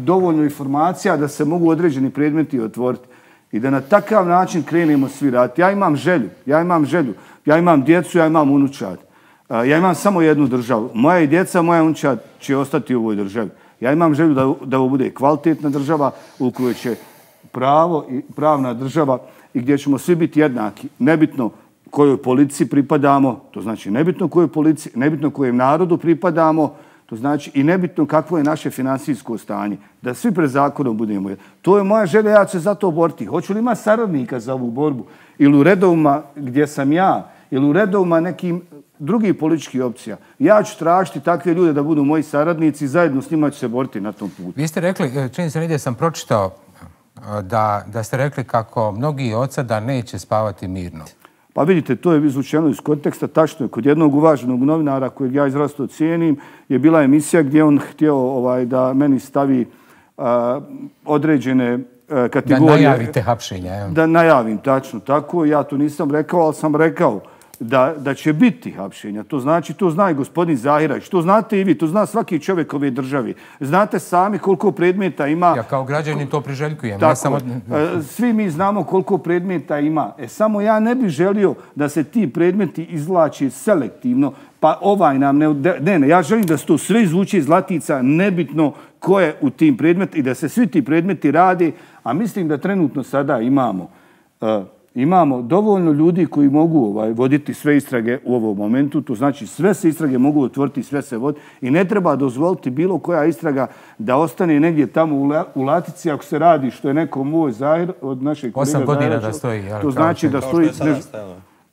dovoljno informacija da se mogu određeni predmeti otvoriti. I da na takav način krenemo svi raditi. Ja imam želju, ja imam želju, ja imam djecu, ja imam unučad. Ja imam samo jednu državu. Moja i djeca, moja unčad će ostati u ovoj državi. Ja imam želju da, da ovo bude kvalitetna država u kojoj će pravo i pravna država i gdje ćemo svi biti jednaki. Nebitno kojoj policiji pripadamo, to znači nebitno kojoj policiji, nebitno kojem narodu pripadamo, to znači i nebitno kakvo je naše finansijsko stanje. Da svi pred zakonom budemo. To je moja želja, ja ću se za to boriti. Hoću li imati saradnika za ovu borbu? Ili u redovima gdje sam ja, ili u redovima nekim drugih političkih opcija. Ja ću tražiti takve ljude da budu moji saradnici i zajedno s njima ću se boriti na tom putu. Vi ste rekli, čini se negdje sam pročitao da, da ste rekli kako mnogi od sada neće spavati mirno. Pa vidite, to je izvučeno iz konteksta. Tačno je, kod jednog uvaženog novinara kojeg ja izrazito cijenim je bila emisija gdje on htio ovaj, da meni stavi a, određene a, kategorije. Da najavite hapšenja. Da najavim, tačno tako. Ja to nisam rekao, ali sam rekao da, da će biti hapšenja. To znači, to zna i gospodin Zahirać, to znate i vi, to zna svaki čovjek ove državi. Znate sami koliko predmeta ima. Ja kao građanin to priželjkujem. Tako, ja samo... Svi mi znamo koliko predmeta ima. E, samo ja ne bih želio da se ti predmeti izvlači selektivno, pa ovaj nam ne... Ne, ne, ja želim da se to sve izvuče iz latica, nebitno ko je u tim predmetima i da se svi ti predmeti rade, a mislim da trenutno sada imamo... Uh, Imamo dovoljno ljudi koji mogu ovaj, voditi sve istrage u ovom momentu. To znači sve se istrage mogu otvoriti, sve se vodi. I ne treba dozvoliti bilo koja istraga da ostane negdje tamo u, la, u latici ako se radi što je neko moj Zahir od našeg kolega Osam godina Zahirača. Da stoji. To znači da stoji...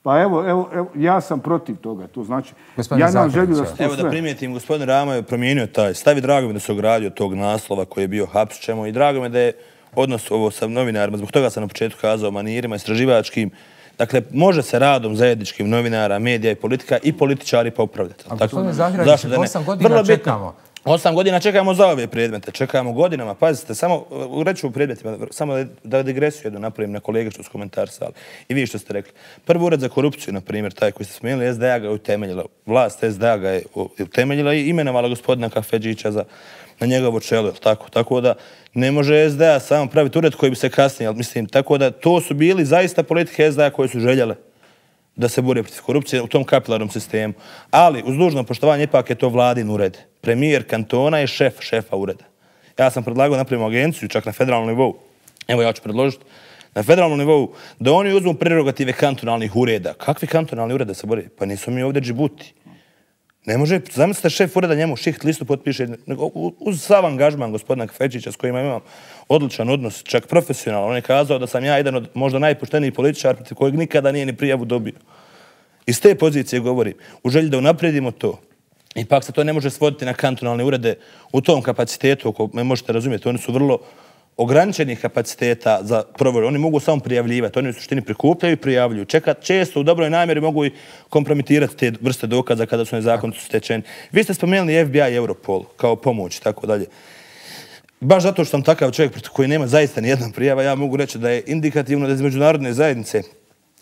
Pa evo, evo, evo, ja sam protiv toga. To znači, gospodin ja nam želim da sto Evo da primijetim, gospodin Rama je promijenio taj stav i drago mi da se ogradio tog naslova koji je bio hapšćemo i drago mi da je odnos ovo sa novinarima, zbog toga sam na početku kazao manirima, istraživačkim. Dakle, može se radom zajedničkim novinara, medija i politika i političari popravljati. A gospodine Zahirač, osam godina čekamo. Osam godina čekamo za ove predmete, čekamo godinama. Pazite, samo reću u predmetima, samo da digresiju jednu napravim na kolege što su komentarsali. I vi što ste rekli. Prvi ured za korupciju, na primjer, taj koji ste spomenuli, S D A ga je utemeljila. Vlast S D A ga je utemeljila i imenovala gospodina Kafedžića za na njegovo čelo, tako? Tako da ne može S D A samo praviti ured koji bi se kasnije, ali mislim, tako da to su bili zaista politike S D A koje su željele da se bore protiv korupcije u tom kapilarnom sistemu. Ali, uz dužno poštovanje, ipak je to vladin ured. Premijer kantona je šef šefa ureda. Ja sam predlagao napravimo agenciju, čak na federalnom nivou. Evo ja ću predložiti na federalnom nivou da oni uzmu prerogative kantonalnih ureda. Kakvi kantonalni ureda se bore? Pa nisu mi ovdje Džibuti. Ne može, zamislite šef ureda njemu šiht listu potpiše uz sav angažman gospodina Kafedžića s kojima imam odličan odnos, čak profesionalan. On je kazao da sam ja jedan od možda najpoštenijih političara protiv kojeg nikada nije ni prijavu dobio. Iz te pozicije govorim, u želji da unaprijedimo to. Ipak se to ne može svoditi na kantonalne urede u tom kapacitetu, ako me možete razumjeti, oni su vrlo ograničenih kapaciteta za provjeru. Oni mogu samo prijavljivati, oni u suštini prikupljaju i prijavljuju. Čekat, često u dobroj namjeri mogu i kompromitirati te vrste dokaza kada su nezakonito stečeni. Vi ste spomenuli F B I i Europol kao pomoć i tako dalje. Baš zato što sam takav čovjek protiv koji nema zaista nijedna prijava, ja mogu reći da je indikativno da iz međunarodne zajednice,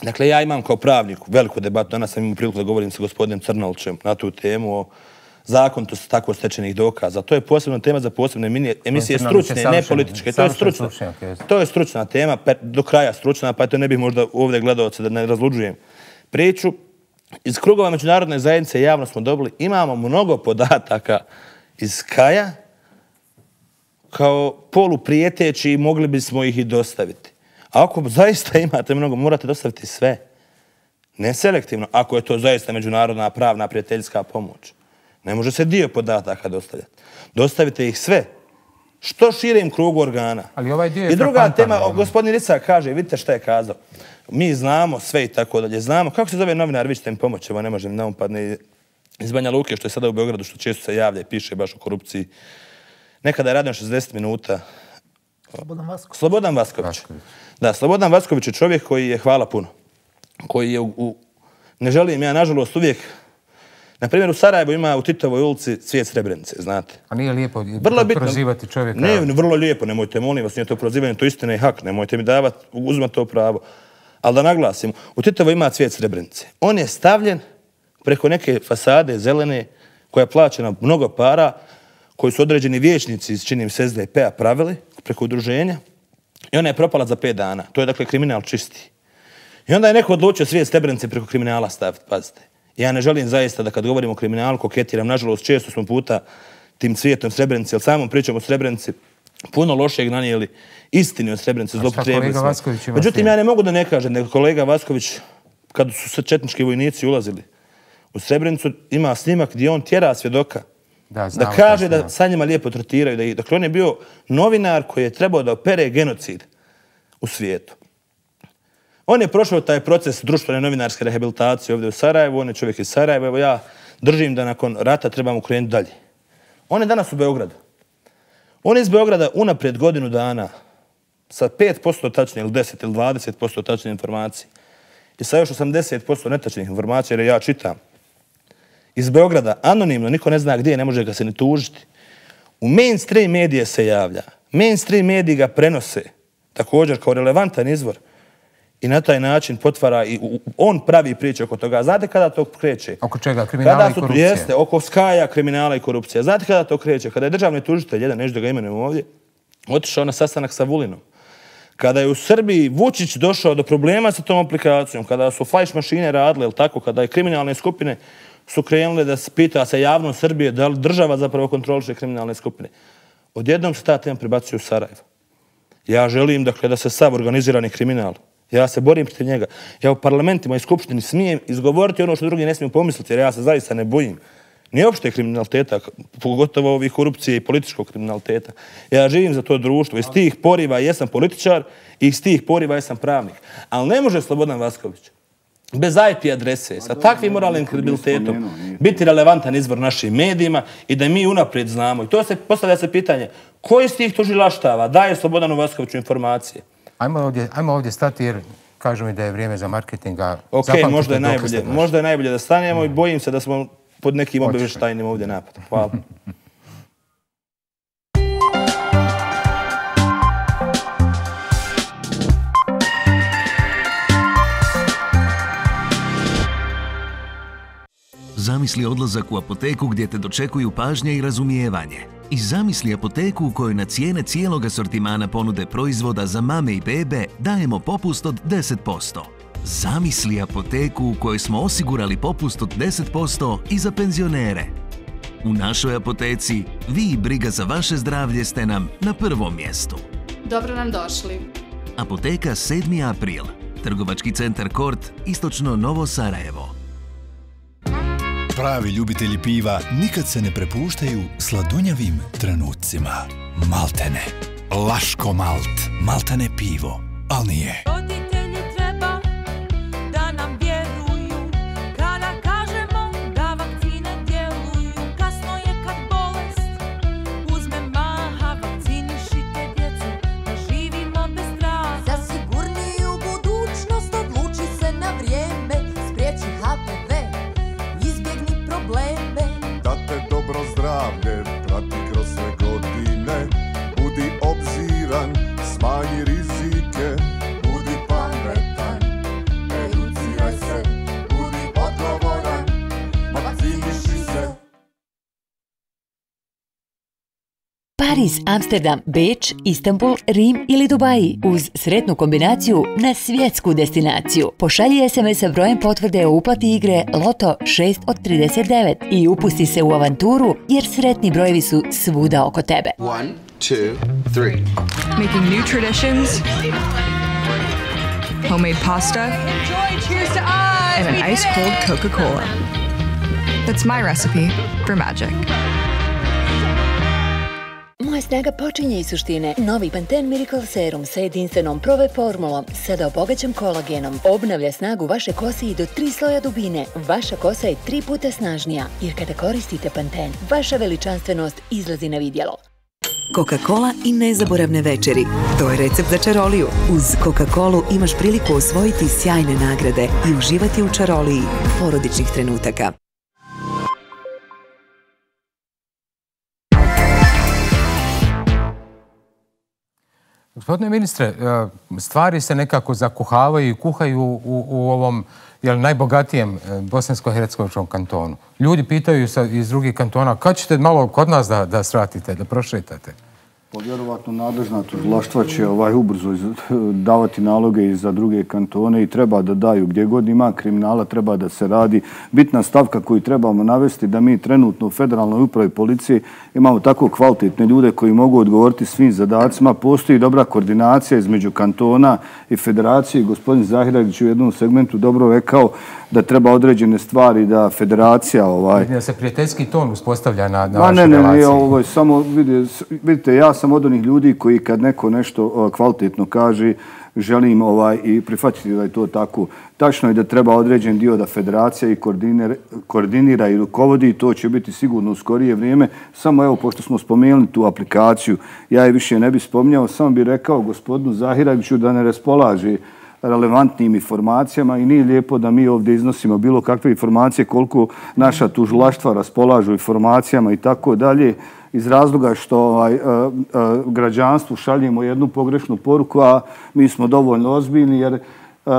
dakle ja imam kao pravnik veliku debatu, danas sam imao priliku da govorim sa gospodinom Crnolčem na tu temu o zakonitosti tako stečenih dokaza. To je posebna tema za posebne emisije, stručne, ne političke. To je stručna. To je stručna tema, do kraja stručna, pa to ne bih možda ovdje gledalce da ne razluđujem priču. Iz krugova međunarodne zajednice javno smo dobili, imamo mnogo podataka iz Kaja kao poluprijeteći i mogli bismo ih i dostaviti. A ako zaista imate mnogo, morate dostaviti sve. Ne selektivno, ako je to zaista međunarodna pravna prijateljska pomoć. Ne može se dio podataka dostavljati. Dostavite ih sve. Što širim krugu organa. Ali ovaj dio je I druga tema, gospodin Rica kaže, vidite šta je kazao. Mi znamo sve i tako dalje. Znamo, kako se zove novinar, vi ćete mi pomoći, evo ne možem, ne upadne iz Banja Luke, što je sada u Beogradu, što često se javlja i piše baš o korupciji. Nekada je radio šezdeset minuta. Slobodan Vasković. Slobodan Vasković. Da, Slobodan Vasković je čovjek koji je, hvala puno, koji je u, u ne želim ja, nažalost, uvijek. Na primjer, u Sarajevu ima u Titovoj ulici cvijet Srebrenice, znate. A nije lijepo prozivati čovjeka? Ne, vrlo lijepo, nemojte, molim vas, nije to prozivanje, to istina i hak, nemojte mi davati, uzmati to pravo. Ali da naglasim, u Titovoj ima cvijet Srebrenice. On je stavljen preko neke fasade zelene koja je plaćena mnogo para, koji su određeni vijećnici iz, čini mi se, S D P-a pravili preko udruženja i ona je propala za pet dana. To je dakle kriminal čisti. I onda je neko odlučio cvijet Srebrenice preko kriminala staviti, pazite. Ja ne želim zaista da kad govorim o kriminalu koketiram. Nažalost, često smo puta tim cvijetom Srebrenici, ali samom pričam o Srebrenici, puno lošeg nanijeli istini od Srebrenice, zloupotrijebili smo. Međutim, ja ne mogu da ne kažem, nego kolega Vasković, kad su četnički vojnici ulazili u Srebrenicu, ima snimak gdje on tjera svjedoka da, da kaže da sa njima lijepo tretiraju. Da ih, dakle, on je bio novinar koji je trebao da opere genocid u svijetu. On je prošao taj proces društvene novinarske rehabilitacije ovdje u Sarajevu, on je čovjek iz Sarajeva, evo ja držim da nakon rata trebamo krenuti dalje. On je danas u Beogradu. On je iz Beograda unaprijed godinu dana sa pet posto tačne ili deset ili dvadeset posto tačne informacije i sa još osamdeset posto netačnih informacija, jer ja čitam. Iz Beograda, anonimno, niko ne zna gdje, ne može ga se ni tužiti. U mainstream medije se javlja. Mainstream mediji ga prenose također kao relevantan izvor i na taj način potvara i on pravi priče oko toga. Znate kada to kreće? Oko čega? Kriminala i korupcije? Jeste, oko Skaja, kriminala i korupcije. Znate kada to kreće? Kada je državni tužitelj, jedan, neću da ga imenujem ovdje, otišao na sastanak sa Vulinom. Kada je u Srbiji Vučić došao do problema sa tom aplikacijom, kada su flash mašine radile, ili tako, kada je kriminalne skupine su krenule da se pita se javno Srbije da li država zapravo kontroliše kriminalne skupine. Odjednom se ta tema prebacuje u Sarajevo. Ja želim, dakle, da se sav organizirani kriminal, ja se borim protiv njega. Ja u parlamentima i skupštini smijem izgovoriti ono što drugi ne smiju pomisliti, jer ja se zaista ne bojim. Nije opšte kriminaliteta, pogotovo ovih korupcije i političkog kriminaliteta. Ja živim za to društvo. Iz tih poriva jesam političar i iz tih poriva jesam pravnik. Ali ne može Slobodan Vasković bez I P adrese, sa takvim moralnim kredibilitetom, biti relevantan izvor našim medijima i da mi unaprijed znamo. I to se postavlja se pitanje, koji iz tih tužilaštava daje Slobodanu Vaskoviću informacije? Ajmo ovdje, ajmo ovdje stati jer kažu mi da je vrijeme za marketinga. Ok, možda je, najbolje, možda je najbolje da stanemo i bojim se da smo pod nekim obavještajnim ovdje napadom. Hvala. Zamisli odlazak u apoteku gdje te dočekuju pažnja i razumijevanje. I zamisli apoteku u kojoj na cijene cijelog asortimana ponude proizvoda za mame i bebe dajemo popust od deset posto. Zamisli apoteku u kojoj smo osigurali popust od deset posto i za penzionere. U našoj apoteci vi i briga za vaše zdravlje ste nam na prvom mjestu. Dobro nam došli. Apoteka sedmi april. Trgovački centar Kort, istočno Novo Sarajevo. Pravi ljubitelji piva nikad se ne prepuštaju sladunjavim trenucima. Maltene. Laško Malt. Maltene pivo. Al nije. Roditelji treba da nam vjeruju kada kažemo da vakcine djeluju. Kasno je kad bolest uzme maha, vakcinišite djecu da živimo bez straha. Za sigurniju budućnost odluči se na vrijeme, spriječi H P V. Da te dobro zdravlje prati kroz sve godine. Budi obziran, smanji rizike. Budi pametan, educiraj se. Budi odgovoran, vakciniši se. Pariz, Amsterdam, Beč, Istanbul, Rim ili Dubaji uz sretnu kombinaciju na svjetsku destinaciju. Pošalji es em es sa brojem potvrde o uplati igre Loto šest od trideset devet i upusti se u avanturu jer sretni brojevi su svuda oko tebe. One, two, three. Making new traditions, homemade pasta, and an ice-cold Coca-Cola. That's my recipe for magic. Moja snaga počinje iz suštine. Novi Pantene Miracle Serum sa jedinstvenom prove formulom, sada obogaćen kolagenom, obnavlja snagu vaše kose i do tri sloja dubine. Vaša kosa je tri puta snažnija, jer kada koristite Pantene, vaša veličanstvenost izlazi na vidjelo. Coca-Cola i nezaboravne večeri. To je recept za čaroliju. Uz Coca-Colu imaš priliku osvojiti sjajne nagrade i uživati u čaroliji porodičnih trenutaka. Gospodine ministre, stvari se nekako zakuhavaju i kuhaju u, u ovom jel, najbogatijem bosansko-hercegovačkom kantonu. Ljudi pitaju sa, iz drugih kantona kad ćete malo kod nas da, da sratite, da prošetate? Vjerovatno nadležna tužilaštva će ovaj ubrzo davati naloge i za druge kantone i treba da daju gdje god ima kriminala, treba da se radi. Bitna stavka koju trebamo navesti da mi trenutno u Federalnoj upravi policije imamo tako kvalitetne ljude koji mogu odgovoriti svim zadacima. Postoji dobra koordinacija između kantona i federacije. Gospodin Zahiragić u jednom segmentu dobro rekao da treba određene stvari da federacija... Ovaj... Da se prijateljski ton uspostavlja na, na vašoj relaciji. Ne, ne, ne, ovo je samo, vidite, ja sam od onih ljudi koji kad neko nešto kvalitetno kaže, želim ovaj, i prihvatiti da je to tako. Tačno je da treba određen dio da federacija i koordinira, koordinira i rukovodi i to će biti sigurno u skorije vrijeme. Samo evo, pošto smo spomenuli tu aplikaciju, ja je više ne bih spominjao, samo bih rekao gospodinu Zahiragiću da ne raspolaže relevantnim informacijama i nije lijepo da mi ovdje iznosimo bilo kakve informacije koliko naša tužilaštva raspolažu informacijama i tako dalje iz razloga što ovaj, uh, uh, građanstvu šaljemo jednu pogrešnu poruku, a mi smo dovoljno ozbiljni jer uh,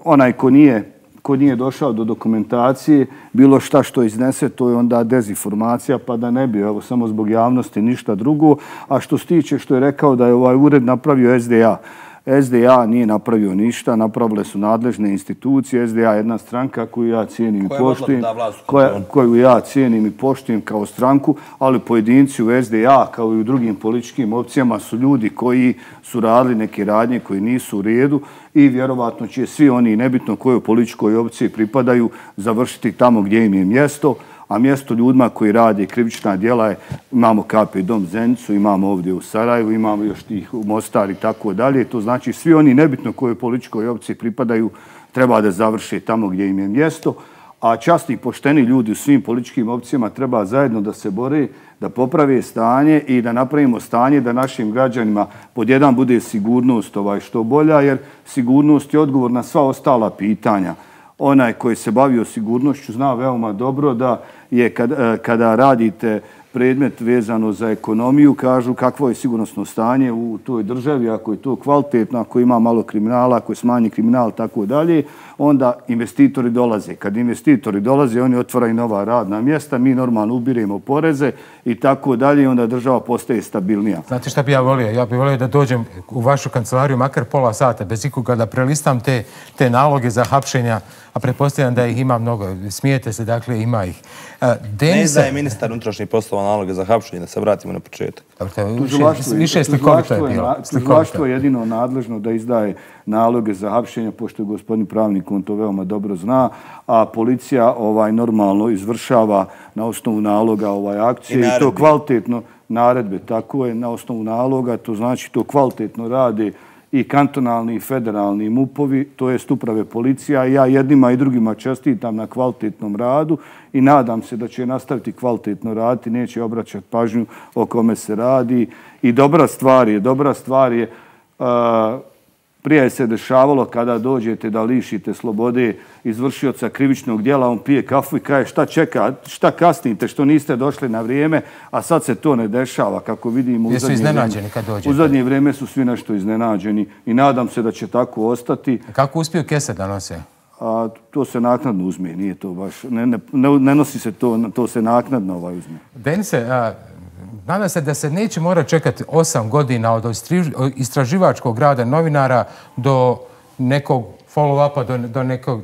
onaj ko nije, ko nije došao do dokumentacije, bilo šta što iznese, to je onda dezinformacija, pa da ne bi, evo, samo zbog javnosti ništa drugo. A što se tiče što je rekao da je ovaj ured napravio S D A, S D A nije napravio ništa, napravile su nadležne institucije. S D A je jedna stranka koju ja cijenim i poštujem, koju ja cijenim i poštujem kao stranku, ali pojedinci u S D A kao i u drugim političkim opcijama su ljudi koji su radili neke radnje koji nisu u redu i vjerovatno će svi oni, nebitno kojoj političkoj opciji pripadaju, završiti tamo gdje im je mjesto. A mjesto ljudima koji rade krivična djela je, imamo K P dom Zenicu, imamo ovdje u Sarajevu, imamo još tih u Mostar i tako dalje. To znači svi oni, nebitno kojoj političkoj opciji pripadaju, treba da završe tamo gdje im je mjesto. A časni i pošteni ljudi u svim političkim opcijama treba zajedno da se bore, da poprave stanje i da napravimo stanje da našim građanima pod jedan bude sigurnost ovaj što bolja, jer sigurnost je odgovor na sva ostala pitanja. Onaj koji se bavio sigurnošću zna veoma dobro da je kad, kada radite predmet vezano za ekonomiju, kažu kakvo je sigurnosno stanje u toj državi, ako je to kvalitetno, ako ima malo kriminala, ako je smanji kriminal, tako dalje, onda investitori dolaze. Kad investitori dolaze, oni otvaraju nova radna mjesta, mi normalno ubiremo poreze i tako dalje, onda država postaje stabilnija. Znate šta bi ja volio? Ja bih volio da dođem u vašu kancelariju makar pola sata, bez ikoga da prelistam te, te naloge za hapšenja, a pretpostavljam da ih ima mnogo. Smijete se, dakle, ima ih. Denisa... Ne izdaje ministar unutrašnjih poslova naloge za hapšenje, da se vratimo na početak. Više, više slikovito je bilo. Tužilaštvo je jedino nadležno da izdaje naloge za hapšenje, pošto je gospodin pravnik, on to veoma dobro zna, a policija ovaj normalno izvršava na osnovu naloga ovaj akcije i, i to kvalitetno naredbe, tako je, na osnovu naloga, to znači to kvalitetno rade i kantonalni i federalni mupovi, to jest uprave policija. Ja jednima i drugima čestitam na kvalitetnom radu i nadam se da će nastaviti kvalitetno raditi, neće obraćati pažnju o kome se radi. I dobra stvar je, dobra stvar je, uh, prije se dešavalo kada dođete da lišite slobode izvršioca krivičnog djela, on pije kafu i kaže šta čeka, šta kasnite, što niste došli na vrijeme, a sad se to ne dešava, kako vidimo. Jesu iznenađeni kad dođete? U zadnje vrijeme su svi nešto iznenađeni i nadam se da će tako ostati. Kako uspiju kese da nose? A to se naknadno uzme, nije to baš, ne, ne, ne nosi se to, to se naknadno ovaj uzme. Denise, a, nadam se da se neće morati čekati osam godina od istraživačkog rada novinara do nekog follow-upa, do, do nekog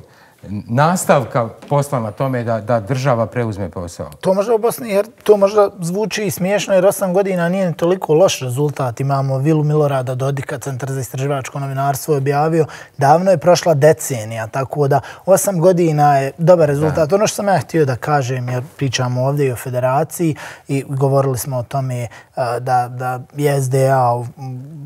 nastavka posla na tome da, da država preuzme posao. To možda u Bosni, jer to možda zvuči i smiješno, jer osam godina nije toliko loš rezultat. Imamo vilu Milorada Dodika, Centar za istraživačko novinarstvo je objavio. Davno je prošla decenija, tako da osam godina je dobar rezultat. Da. Ono što sam ja htio da kažem, jer pričamo ovdje i o federaciji i govorili smo o tome da, da je S D A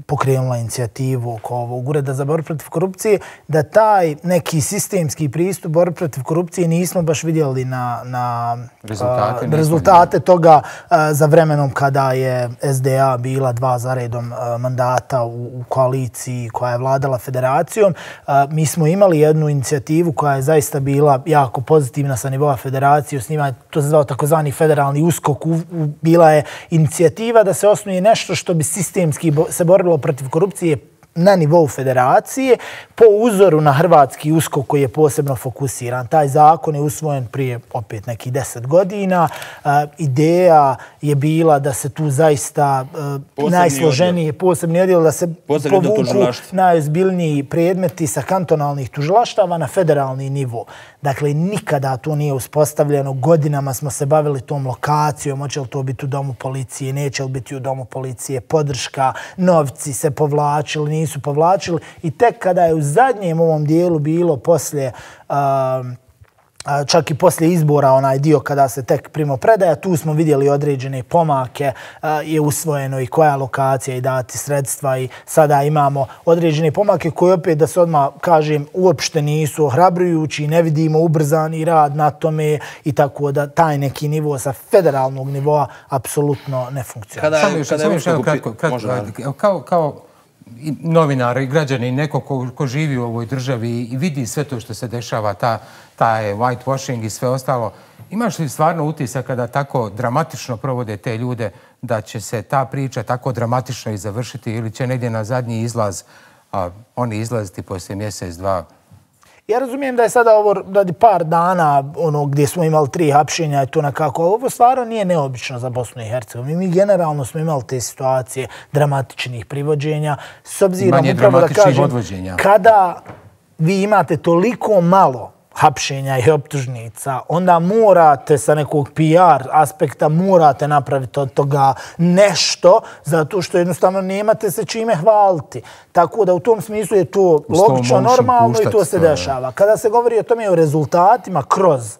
pokrenula inicijativu oko ovog ureda za borbu protiv korupcije, da taj neki sistemski pristup borbe protiv korupcije nismo baš vidjeli na, na rezultate, uh, rezultate toga uh, za vremenom kada je S D A bila dva za redom uh, mandata u, u koaliciji koja je vladala federacijom. Uh, mi smo imali jednu inicijativu koja je zaista bila jako pozitivna sa nivoa federacije. Osnivanje, to se zvao takozvani federalni uskok. U, u, bila je inicijativa da se osnuje nešto što bi sistemski bo, se borilo protiv korupcije na nivou federacije po uzoru na hrvatski uskok koji je posebno fokusiran. Taj zakon je usvojen prije opet nekih deset godina. Uh, ideja je bila da se tu zaista uh, najsloženije posebni odjel, da se posebni povuku najozbiljniji predmeti sa kantonalnih tužilaštava na federalni nivo. Dakle, nikada to nije uspostavljeno. Godinama smo se bavili tom lokacijom, hoće li to biti u domu policije, neće li biti u domu policije, podrška, novci se povlačili, nisu povlačili. I tek kada je u zadnjem ovom dijelu bilo poslije, uh, čak i poslije izbora, onaj dio kada se tek primopredaja, tu smo vidjeli određene pomake, je usvojeno i koja lokacija i dati sredstva i sada imamo određene pomake koje opet, da se odmah kažem, uopšte nisu ohrabrujući, ne vidimo ubrzani rad na tome i tako da taj neki nivo sa federalnog nivoa apsolutno ne funkcionira. Samo još jedno kratko, kao, kao i novinar i građani, neko ko, ko živi u ovoj državi i vidi sve to što se dešava, ta, taj whitewashing i sve ostalo, imaš li stvarno utisak kada tako dramatično provode te ljude da će se ta priča tako dramatično i završiti ili će negdje na zadnji izlaz a, oni izlaziti poslije mjesec, dva? Ja razumijem da je sada ovo radi par dana ono, gdje smo imali tri hapšenja i to nekako. Ovo stvarno nije neobično za Bosnu i Hercegovinu. Mi generalno smo imali te situacije dramatičnih privođenja. S obzirom upravo da kažem, odvođenja. Kada vi imate toliko malo hapšenja i optužnica, onda morate sa nekog P R aspekta morate napraviti od toga nešto, zato što jednostavno nemate se čime hvaliti. Tako da u tom smislu je to logično, normalno i to se dešava. Kada se govori o tome o rezultatima kroz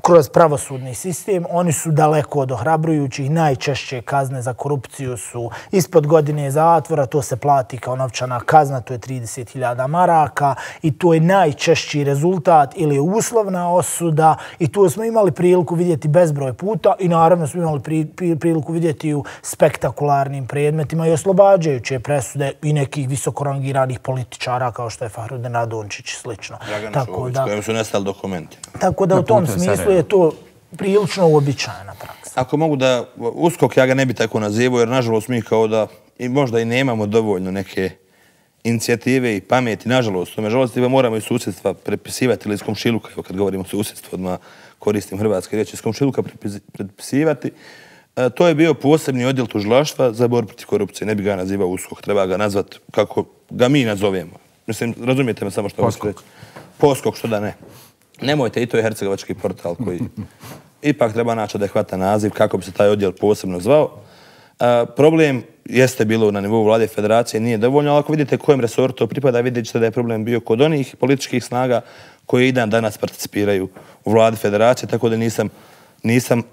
kroz pravosudni sistem, oni su daleko od ohrabrujućih. Najčešće kazne za korupciju su ispod godine zatvora, to se plati kao novčana kazna, to je trideset hiljada maraka i to je najčešći rezultat ili je uslovna osuda i to smo imali priliku vidjeti bezbroj puta i naravno smo imali pri, pri, priliku vidjeti u spektakularnim predmetima i oslobađajuće presude i nekih visokorangiranih političara kao što je Fahrudin Radončić i slično. Dragana Šović, kojim su nestali dokumenti. Tako da u tom smislu je to prilično uobičajena praksa. Ako mogu da, uskok ja ga ne bi tako nazivao, jer nažalost mi kao da i možda i nemamo dovoljno neke inicijative i pameti, nažalost, nažalost moramo iz susjedstva prepisivati ili iz komšiluka, evo kad govorimo o susjedstvu, odmah koristim hrvatske riječi, iz komšiluka prepisivati. E, to je bio posebni odjel tužilaštva za borbu protiv korupcije. Ne bi ga nazivao uskok, treba ga nazvati kako ga mi nazovemo. Mislim, razumijete me samo što hoću reći. Poskok, što da ne. Nemojte, i to je hercegovački portal koji ipak treba naći adekvatan naziv kako bi se taj odjel posebno zvao. E, problem jeste bilo na nivou vlade federacije, nije dovoljno, ali ako vidite kojem resoru to pripada, vidjet ćete da je problem bio kod onih političkih snaga koji i dan danas participiraju u vladi federacije, tako da nisam, nisam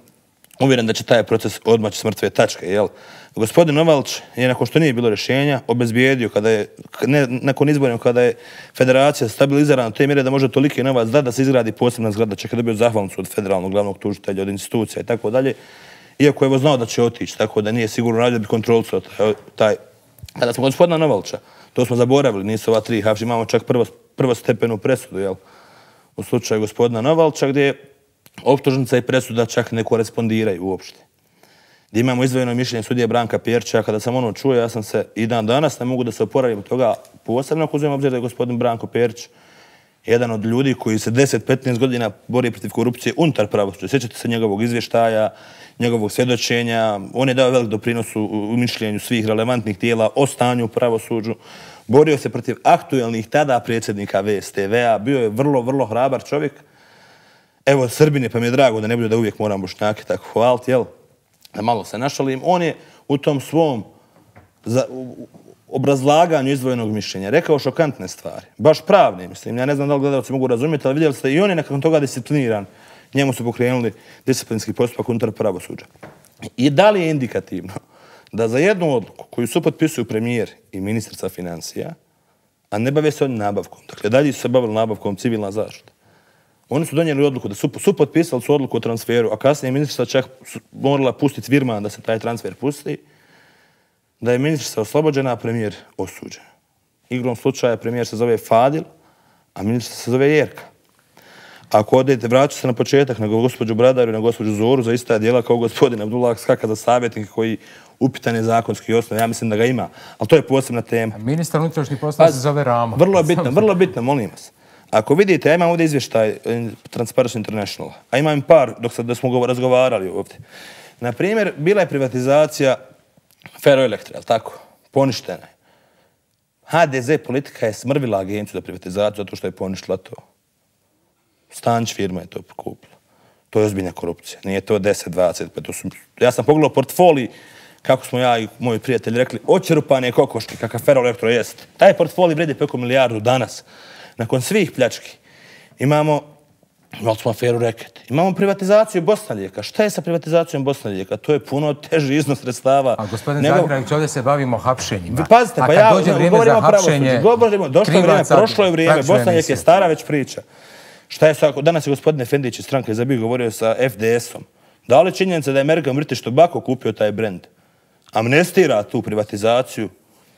uvjeren da će taj proces odmaći s mrtve tačke. Jel? Gospodin Novalč je, nakon što nije bilo rješenja, obezbijedio kada je, ne, nakon izborima kada je federacija stabilizirana do te mjere da može toliki novac da da se izgradi posebna zgrada, čak je dobio zahvalnicu od federalnog glavnog tužitelja, od institucija i tako dalje. Iako je znao da će otići, tako da nije sigurno radio da bi kontrolicao taj, taj. Kada smo gospodina Novalča, to smo zaboravili, nisu ova tri hapšenja, imamo čak prvo, prvostepenu presudu, jel? U slučaju gospodina Novalča, gdje optužnica i presuda čak ne korespondiraju uopšte. Gdje imamo izdvojeno mišljenje sudije Branka Pjerča, kada sam ono čuo, ja sam se i dan danas ne mogu da se oporavim od toga, posebno ako uzmem obzir da je gospodin Branko Pjerč jedan od ljudi koji se deset do petnaest godina bori protiv korupcije unutar pravosuđa. Sjećate se njegovog izvještaja, njegovog svjedočenja, on je dao velik doprinos u mišljenju svih relevantnih tijela o stanju u pravosuđu. Borio se protiv aktuelnih tada predsjednika V S T V-a, bio je vrlo, vrlo hrabar čovjek. Evo, Srbine, pa mi je drago da ne bude da uvijek moram Bošnjake tako hvaliti, jel? Da malo se našalim. On je u tom svom za, u, obrazlaganju izdvojenog mišljenja rekao šokantne stvari. Baš pravne, mislim. Ja ne znam da li gledalci mogu razumjeti, ali vidjeli ste i on je nakon toga discipliniran. Njemu su pokrenuli disciplinski postupak unutar pravosuđa. I da li je indikativno da za jednu odluku koju su potpisuju premijer i ministrica financija, a ne bave se oni nabavkom, dakle dalje su se bavili nabavkom civilna zaštita, oni su donijeli odluku da su, su potpisali su odluku o transferu, a kasnije ministrica čak morala pustiti Virman da se taj transfer pusti, da je ministrica oslobođena, a premijer osuđen. Igrom slučaja premijer se zove Fadil, a ministrica se zove Jerka. Ako odete, vraću se na početak na gospođu Bradaru i na gospođu Zoru za ista djela kao gospodin Abdullah Skaka za savjetnika koji upitan je zakonski osnov, ja mislim da ga ima, ali to je posebna tema. Ministar unutrašnjih poslova se zove Ramo. Vrlo je bitno, vrlo bitno, molim vas. Ako vidite, ja imam ovdje izvještaj Transparency International, a imam par dok sad da smo razgovarali ovdje. Na primjer, bila je privatizacija Ferroelektra, ali tako? Poništena je. ha de ze politika je smrvila agenciju za privatizaciju zato što je poništila to. Stanč firma je to kupila. To je ozbiljna korupcija. Nije to deset, dvadeset, pa to su... Ja sam pogledao portfolij, kako smo ja i moji prijatelji rekli, očerupane kokoške, kakav Ferroelektro jest. Taj portfolij vredi preko milijardu danas. Nakon svih pljački imamo, imali smo aferu Reket, imamo privatizaciju Bosna Lijeka. Šta je sa privatizacijom Bosna Lijeka? To je puno teži iznos sredstava. A gospodin Zagravić, ovdje se bavimo hapšenjima. Pazite, pa ja govorimo o pravosuđu. Govorimo, došlo je vrijeme, prošlo je vrijeme, Bosna Lijek je stara već priča. Šta je sa, danas je gospodin Efendić iz stranke Zabij govorio sa F D S-om. Da li činjenica da je Amerika Mrtić Tobacco kupio taj brend? Amnestira tu privatizaciju?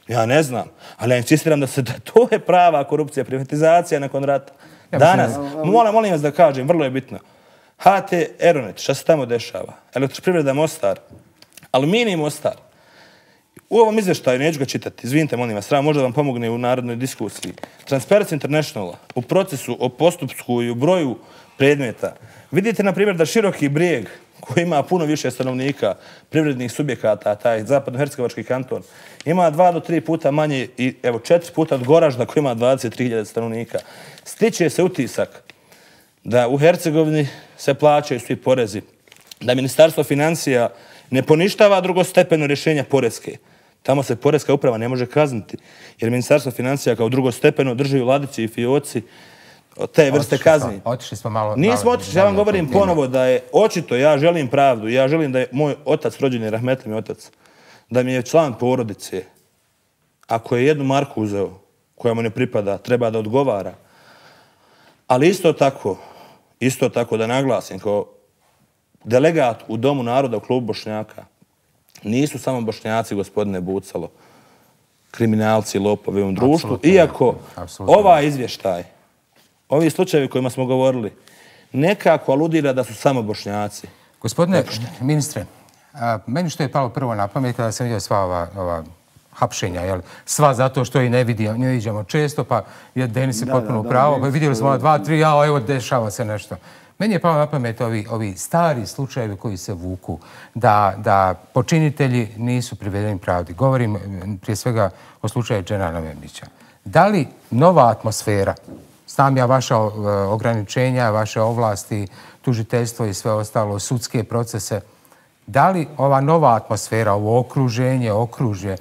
Ja ne znam, ali ja insistiram da se da to je prava korupcija, privatizacija nakon rata. Danas, molim, molim vas da kažem, vrlo je bitno. ha te Aeronet, šta se tamo dešava? Elektroprivreda Mostar, Aluminij Mostar. U ovom izvještaju, neću ga čitati, izvinite, molim vas, možda vam pomogne u narodnoj diskusiji. Transparency Internationala, u procesu, o postupsku i u broju predmeta. Vidite, na primjer, da Široki Brijeg, koji ima puno više stanovnika, privrednih subjekata, taj zapadno-hercegovački kanton, ima dva do tri puta manje i evo četiri puta od Goražda koji ima dvadeset tri hiljade stanovnika. Stiče se utisak da u Hercegovini se plaćaju svi porezi, da Ministarstvo financija ne poništava drugostepeno rješenja poreske. Tamo se poreska uprava ne može kazniti, jer Ministarstvo financija kao drugostepeno drži u ladici i fioci te vrste kazni. Otišli smo malo... Nismo otišli, ja vam govorim ponovo da je očito, ja želim pravdu, ja želim da je moj otac, rođeni rahmetli mi otac, da mi je član porodice, ako je jednu marku uzeo koja mu ne pripada, treba da odgovara. Ali isto tako, isto tako da naglasim, kao delegat u Domu naroda u klubu Bošnjaka, nisu samo Bošnjaci, gospodine Bucalo, kriminalci, lopovi u ovom društvu, iako ovaj izvještaj, ovi slučajevi kojima smo govorili, nekako aludira da su samo Bošnjaci. Gospodine ministre, meni što je palo prvo na pamet kada sam vidio sva ova hapšenja, sva zato što i ne vidimo često, pa je Denis je potpuno upravo, pa vidjeli smo dva, tri, ja, evo, dešava se nešto. Meni je palo na pamet ovi stari slučajevi koji se vuku, da počinitelji nisu privedeni pravdi. Govorim prije svega o slučaju Dženana Memdića. Da li nova atmosfera, znam ja vaša ograničenja, vaše ovlasti, tužiteljstvo i sve ostalo, sudske procese, da li ova nova atmosfera, ovo okruženje, okružje,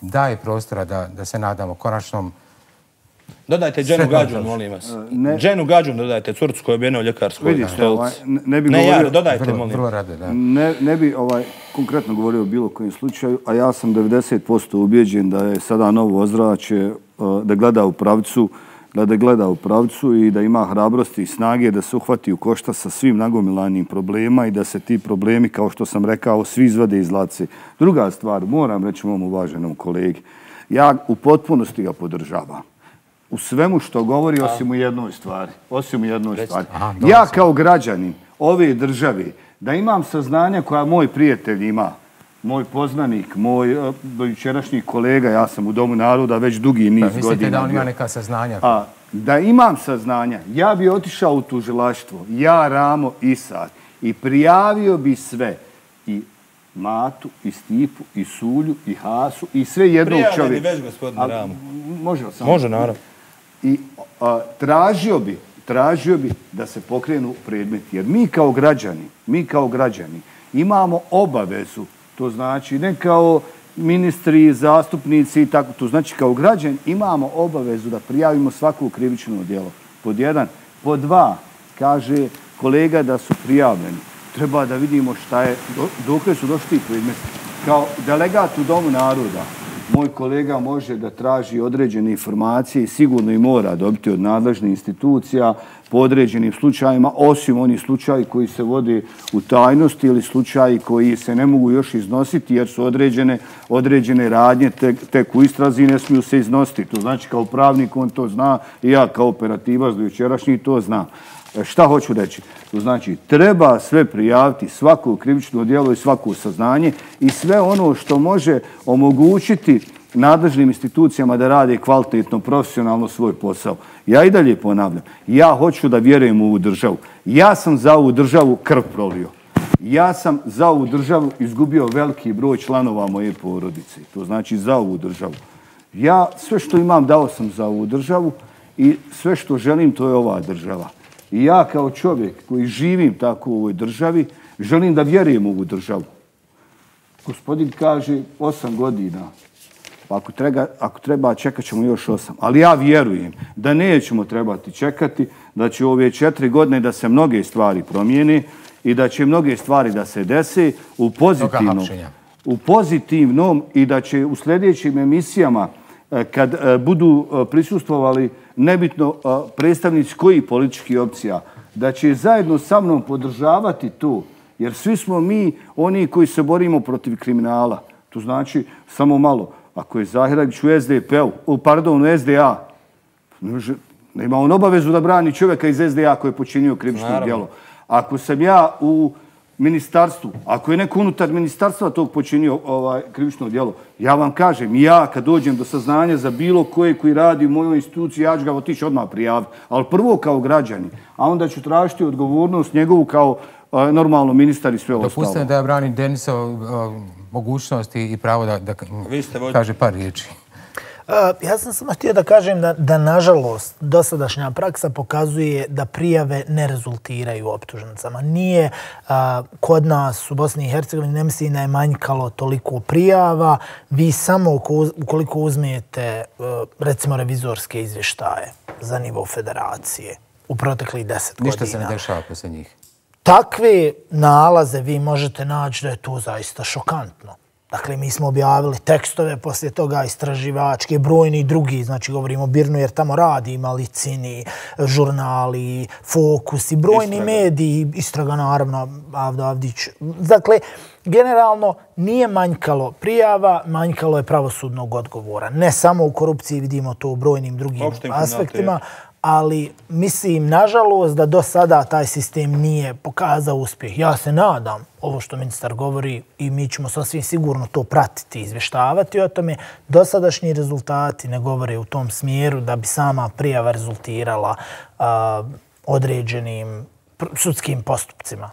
daje prostora da se nadamo konačnom... Dodajte Dženu Gađun, molim vas. Dženu Gađun dodajte, curcu koja je objena u ljekarskoj stolici. Ne, ja, dodajte, molim. Ne bi konkretno govorio o bilo kojem slučaju, a ja sam devedeset posto ubijeđen da je sada novo ozračje, da gleda u pravcu, da gleda u pravcu i da ima hrabrosti i snage da se uhvati u košta sa svim nagomilanim problema i da se ti problemi, kao što sam rekao, svi izvade iz lace. Druga stvar, moram reći mom uvaženom kolegi, ja u potpunosti ga podržavam. U svemu što govori, osim u jednoj stvari. Osim u jednoj stvari. Ja kao građanin ove države, da imam saznanja koja moj prijatelj ima, moj poznanik, moj dojučerašnji kolega, ja sam u Domu naroda već dugi niz godina. Mislite da on ima neka saznanja? A, da imam saznanja, ja bi otišao u tužilaštvo, ja, Ramo i Sad, i prijavio bi sve. I Matu, i Stipu, i Sulju, i Hasu, i sve jednog čovjeka. Prijavljeni već, gospodine Ramo. Može sam. Može, naravno. I tražio bi, tražio bi da se pokrenu predmeti. Jer mi kao građani, mi kao građani imamo obavezu, to znači ne kao ministri, zastupnici i tako, to znači kao građani imamo obavezu da prijavimo svaku krivično djelo. Pod jedan. Pod dva, kaže kolega da su prijavljeni. Treba da vidimo šta je, dokle su došli ti predmeti. Kao delegat u Domu naroda, moj kolega može da traži određene informacije i sigurno i mora dobiti od nadležnih institucija po određenim slučajima, osim onih slučaji koji se vode u tajnosti ili slučaji koji se ne mogu još iznositi jer su određene, određene radnje tek, tek u istrazi ne smiju se iznositi. To znači kao pravnik on to zna i ja kao operativac do jučerašnji to znam. Šta hoću reći? To znači, treba sve prijaviti, svako krivično djelo i svako saznanje i sve ono što može omogućiti nadležnim institucijama da rade kvalitetno, profesionalno svoj posao. Ja i dalje ponavljam, ja hoću da vjerujem u ovu državu. Ja sam za ovu državu krv prolio. Ja sam za ovu državu izgubio veliki broj članova moje porodice. To znači za ovu državu. Ja sve što imam dao sam za ovu državu i sve što želim to je ova država. I ja kao čovjek koji živim tako u ovoj državi želim da vjerujem u ovu državu. Gospodin kaže osam godina. Ako treba, ako treba čekat ćemo još osam. Ali ja vjerujem da nećemo trebati čekati, da će ove četiri godine da se mnoge stvari promijene i da će mnoge stvari da se dese u pozitivnom, u pozitivnom i da će u sljedećim emisijama kad budu prisustvovali nebitno predstavnici kojih političkih opcija, da će zajedno sa mnom podržavati to, jer svi smo mi oni koji se borimo protiv kriminala. To znači, samo malo, ako je Zahiragić u S D P-u, pardon, u S D A, nema on obavezu da brani čovjeka iz S D A koji je počinio krivično djelo. Ako sam ja u ministarstvu, ako je neko unutar ministarstva tog počinio ovaj, krivično djelo, ja vam kažem, ja kad dođem do saznanja za bilo koje koji radi u mojoj instituciji, ja ću ga otići odmah prijaviti. Ali prvo kao građani, a onda ću tražiti odgovornost njegovu kao uh, normalno ministar i sve ostalo. Dopustite da ja branim Denisa uh, mogućnosti i pravo da, da kaže par riječi. Ja sam samo htio da kažem da, da nažalost dosadašnja praksa pokazuje da prijave ne rezultiraju optužnicama. Nije a, kod nas u Bosni i Hercegovini, ne mislim da je manjkalo toliko prijava. Vi samo ukoliko uzmijete recimo revizorske izvještaje za nivo federacije u proteklih deset godina. Ništa se ne dešava posle njih. Takve nalaze vi možete naći da je to zaista šokantno. Dakle, mi smo objavili tekstove, poslije toga istraživačke, brojni drugi, znači govorimo o Birnu jer tamo radi, Malicini, žurnali, Fokus i brojni Istraga. mediji, Istraga naravno, Avdo Avdić. Dakle, generalno nije manjkalo prijava, manjkalo je pravosudnog odgovora. Ne samo u korupciji, vidimo to u brojnim drugim Opštim aspektima, ali mislim, nažalost, da do sada taj sistem nije pokazao uspjeh. Ja se nadam, ovo što ministar govori, i mi ćemo sasvim sigurno to pratiti, izvještavati o tome, dosadašnji rezultati ne govore u tom smjeru da bi sama prijava rezultirala a, određenim sudskim postupcima.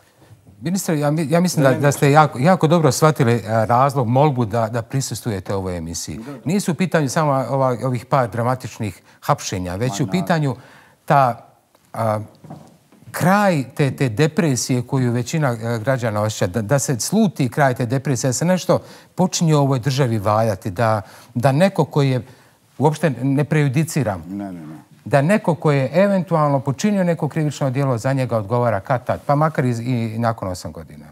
Ministre, ja, ja mislim da, da ste jako, jako dobro shvatili razlog, molbu da, da prisustujete ovoj emisiji. Nisu u pitanju samo ova, ovih par dramatičnih hapšenja, već u pitanju ta a, kraj te, te depresije koju većina građana osjeća, da, da se sluti kraj te depresije, da se nešto počinje u ovoj državi valjati, da, da neko koji je, uopšte ne prejudiciram, ne, ne, ne. da neko koji je eventualno počinio neko krivično djelo za njega odgovara kad tad, pa makar i, i nakon osam godina.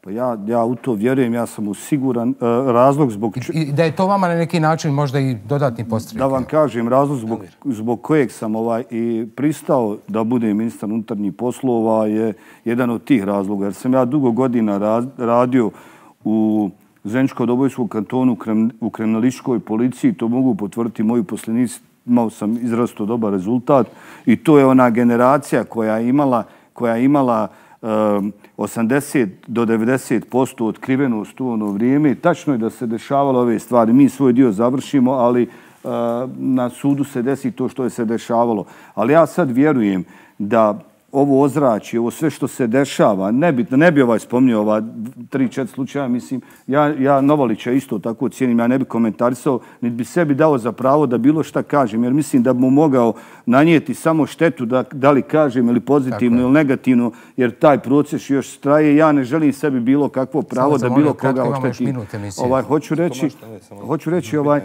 Pa ja, ja u to vjerujem, ja sam u siguran uh, razlog zbog... I, I da je to vama na neki način možda i dodatni postrijek. Da vam kažem, razlog zbog, zbog kojeg sam ovaj i pristao da budem ministar unutarnjih poslova je jedan od tih razloga. Jer sam ja dugo godina rad, radio u Zeničko-Dobojskom kantonu u kriminalističkoj policiji, to mogu potvrditi moji posljednici. Imao sam izrazito dobar rezultat i to je ona generacija koja je imala, koja je imala um, osamdeset do devedeset posto otkrivenost u ono vrijeme. Tačno je da se dešavalo ove stvari. Mi svoj dio završimo, ali uh, na sudu se desi to što je se dešavalo. Ali ja sad vjerujem da ovo ozračje, ovo sve što se dešava, ne bi, ne bi ovaj spomnio ova tri, četiri slučaja, mislim, ja, ja Novalića isto tako cijenim, ja ne bi komentarisao, niti bi sebi dao za pravo da bilo šta kažem, jer mislim da bi mu mogao nanijeti samo štetu da, da li kažem ili pozitivno ili negativno, jer taj proces još traje. Ja ne želim sebi bilo kakvo pravo da bilo koga ošteti. Ovaj, hoću reći, hoću reći ovaj,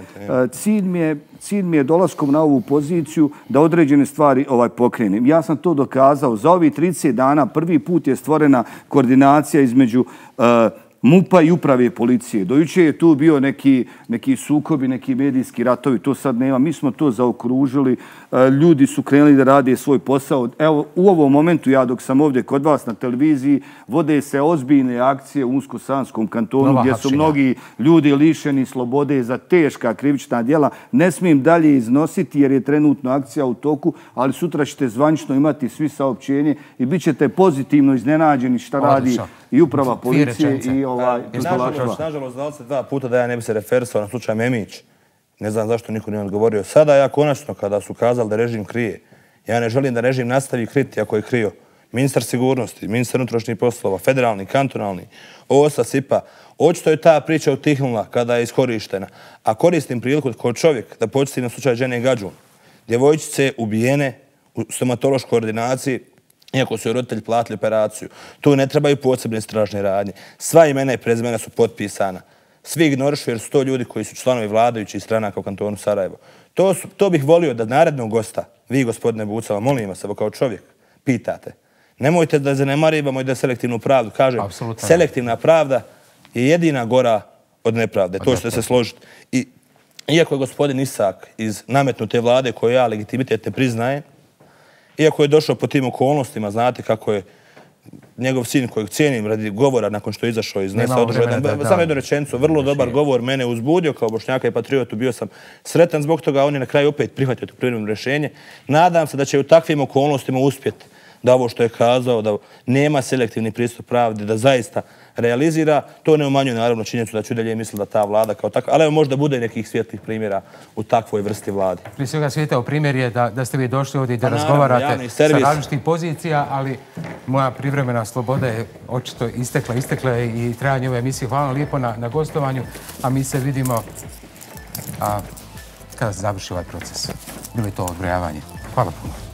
cilj mi je, cilj mi je dolaskom na ovu poziciju da određene stvari ovaj pokrenem. Ja sam to dokazao. Za ovih trideset dana prvi put je stvorena koordinacija između uh, MUP-a i uprave policije. Dojuče je tu bio neki, neki sukobi, neki medijski ratovi, to sad nema. Mi smo to zaokružili, ljudi su krenuli da rade svoj posao. Evo, u ovom momentu, ja dok sam ovdje kod vas na televiziji, vode se ozbiljne akcije u Unsko-Sanskom kantonu, Nova gdje su hapšenja. mnogi ljudi lišeni slobode za teška krivična djela. Ne smijem dalje iznositi jer je trenutno akcija u toku, ali sutra ćete zvanično imati svi saopćenje i bit ćete pozitivno iznenađeni šta radi Odlično. i uprava policije i ovaj I nažalost, nažalost, znali ste dva puta da ja ne bi se referisao na slučaj Memić. Ne znam zašto niko nije odgovorio. Sada ja konačno, kada su kazali da režim krije, ja ne želim da režim nastavi kriti ako je krio. Ministar sigurnosti, ministar unutrašnjih poslova, federalni, kantonalni, O S A, S I P A. Očito je ta priča utihnula kada je iskorištena. A koristim priliku kao čovjek da podsjetim na slučaj žene Gađun. Djevojčice ubijene u stomatološkoj ordinaciji, iako su joj roditelji platili operaciju. Tu ne trebaju posebne stražne radnje. Sva imena i prezimena su potpisana. Svi ignorišu jer su to ljudi koji su članovi vladajućih stranaka u kantonu Sarajevo. To, su, to bih volio da narednog gosta, vi gospodine Bucala, molim vas, evo kao čovjek, pitate. Nemojte da zanemarivamo i da selektivnu pravdu. Kažem, Apsolutno. selektivna pravda je jedina gora od nepravde. To ćete se složiti. I iako je gospodin Isak iz nametnute vlade koju ja legitimitet ne priznajem, iako je došao po tim okolnostima, znate kako je njegov sin kojeg cijenim radi govora nakon što je izašao iz Nesa održao jedan, samo jednu rečenicu, vrlo dobar govor, mene uzbudio kao Bošnjaka i patriotu, bio sam sretan zbog toga, on je na kraju opet prihvatio to privremeno rješenje. Nadam se da će u takvim okolnostima uspjeti da ovo što je kazao, da nema selektivni pristup pravdi, da zaista realizira. To ne umanjuje naravno činjenicu da ću dalje misliti da ta vlada kao takva, ali evo možda bude nekih svijetlih primjera u takvoj vrsti vlade. Prije svega svijetao primjer je da, da ste vi došli ovdje i da Pa naravno, razgovarate javni sa servis. različitih pozicija, ali moja privremena sloboda je očito istekla, istekla je i trajanje ove emisije. Hvala vam lijepo na, na gostovanju, a mi se vidimo a, kada se završi ovaj proces. Bilo je to odbrojavanje. Hvala puno.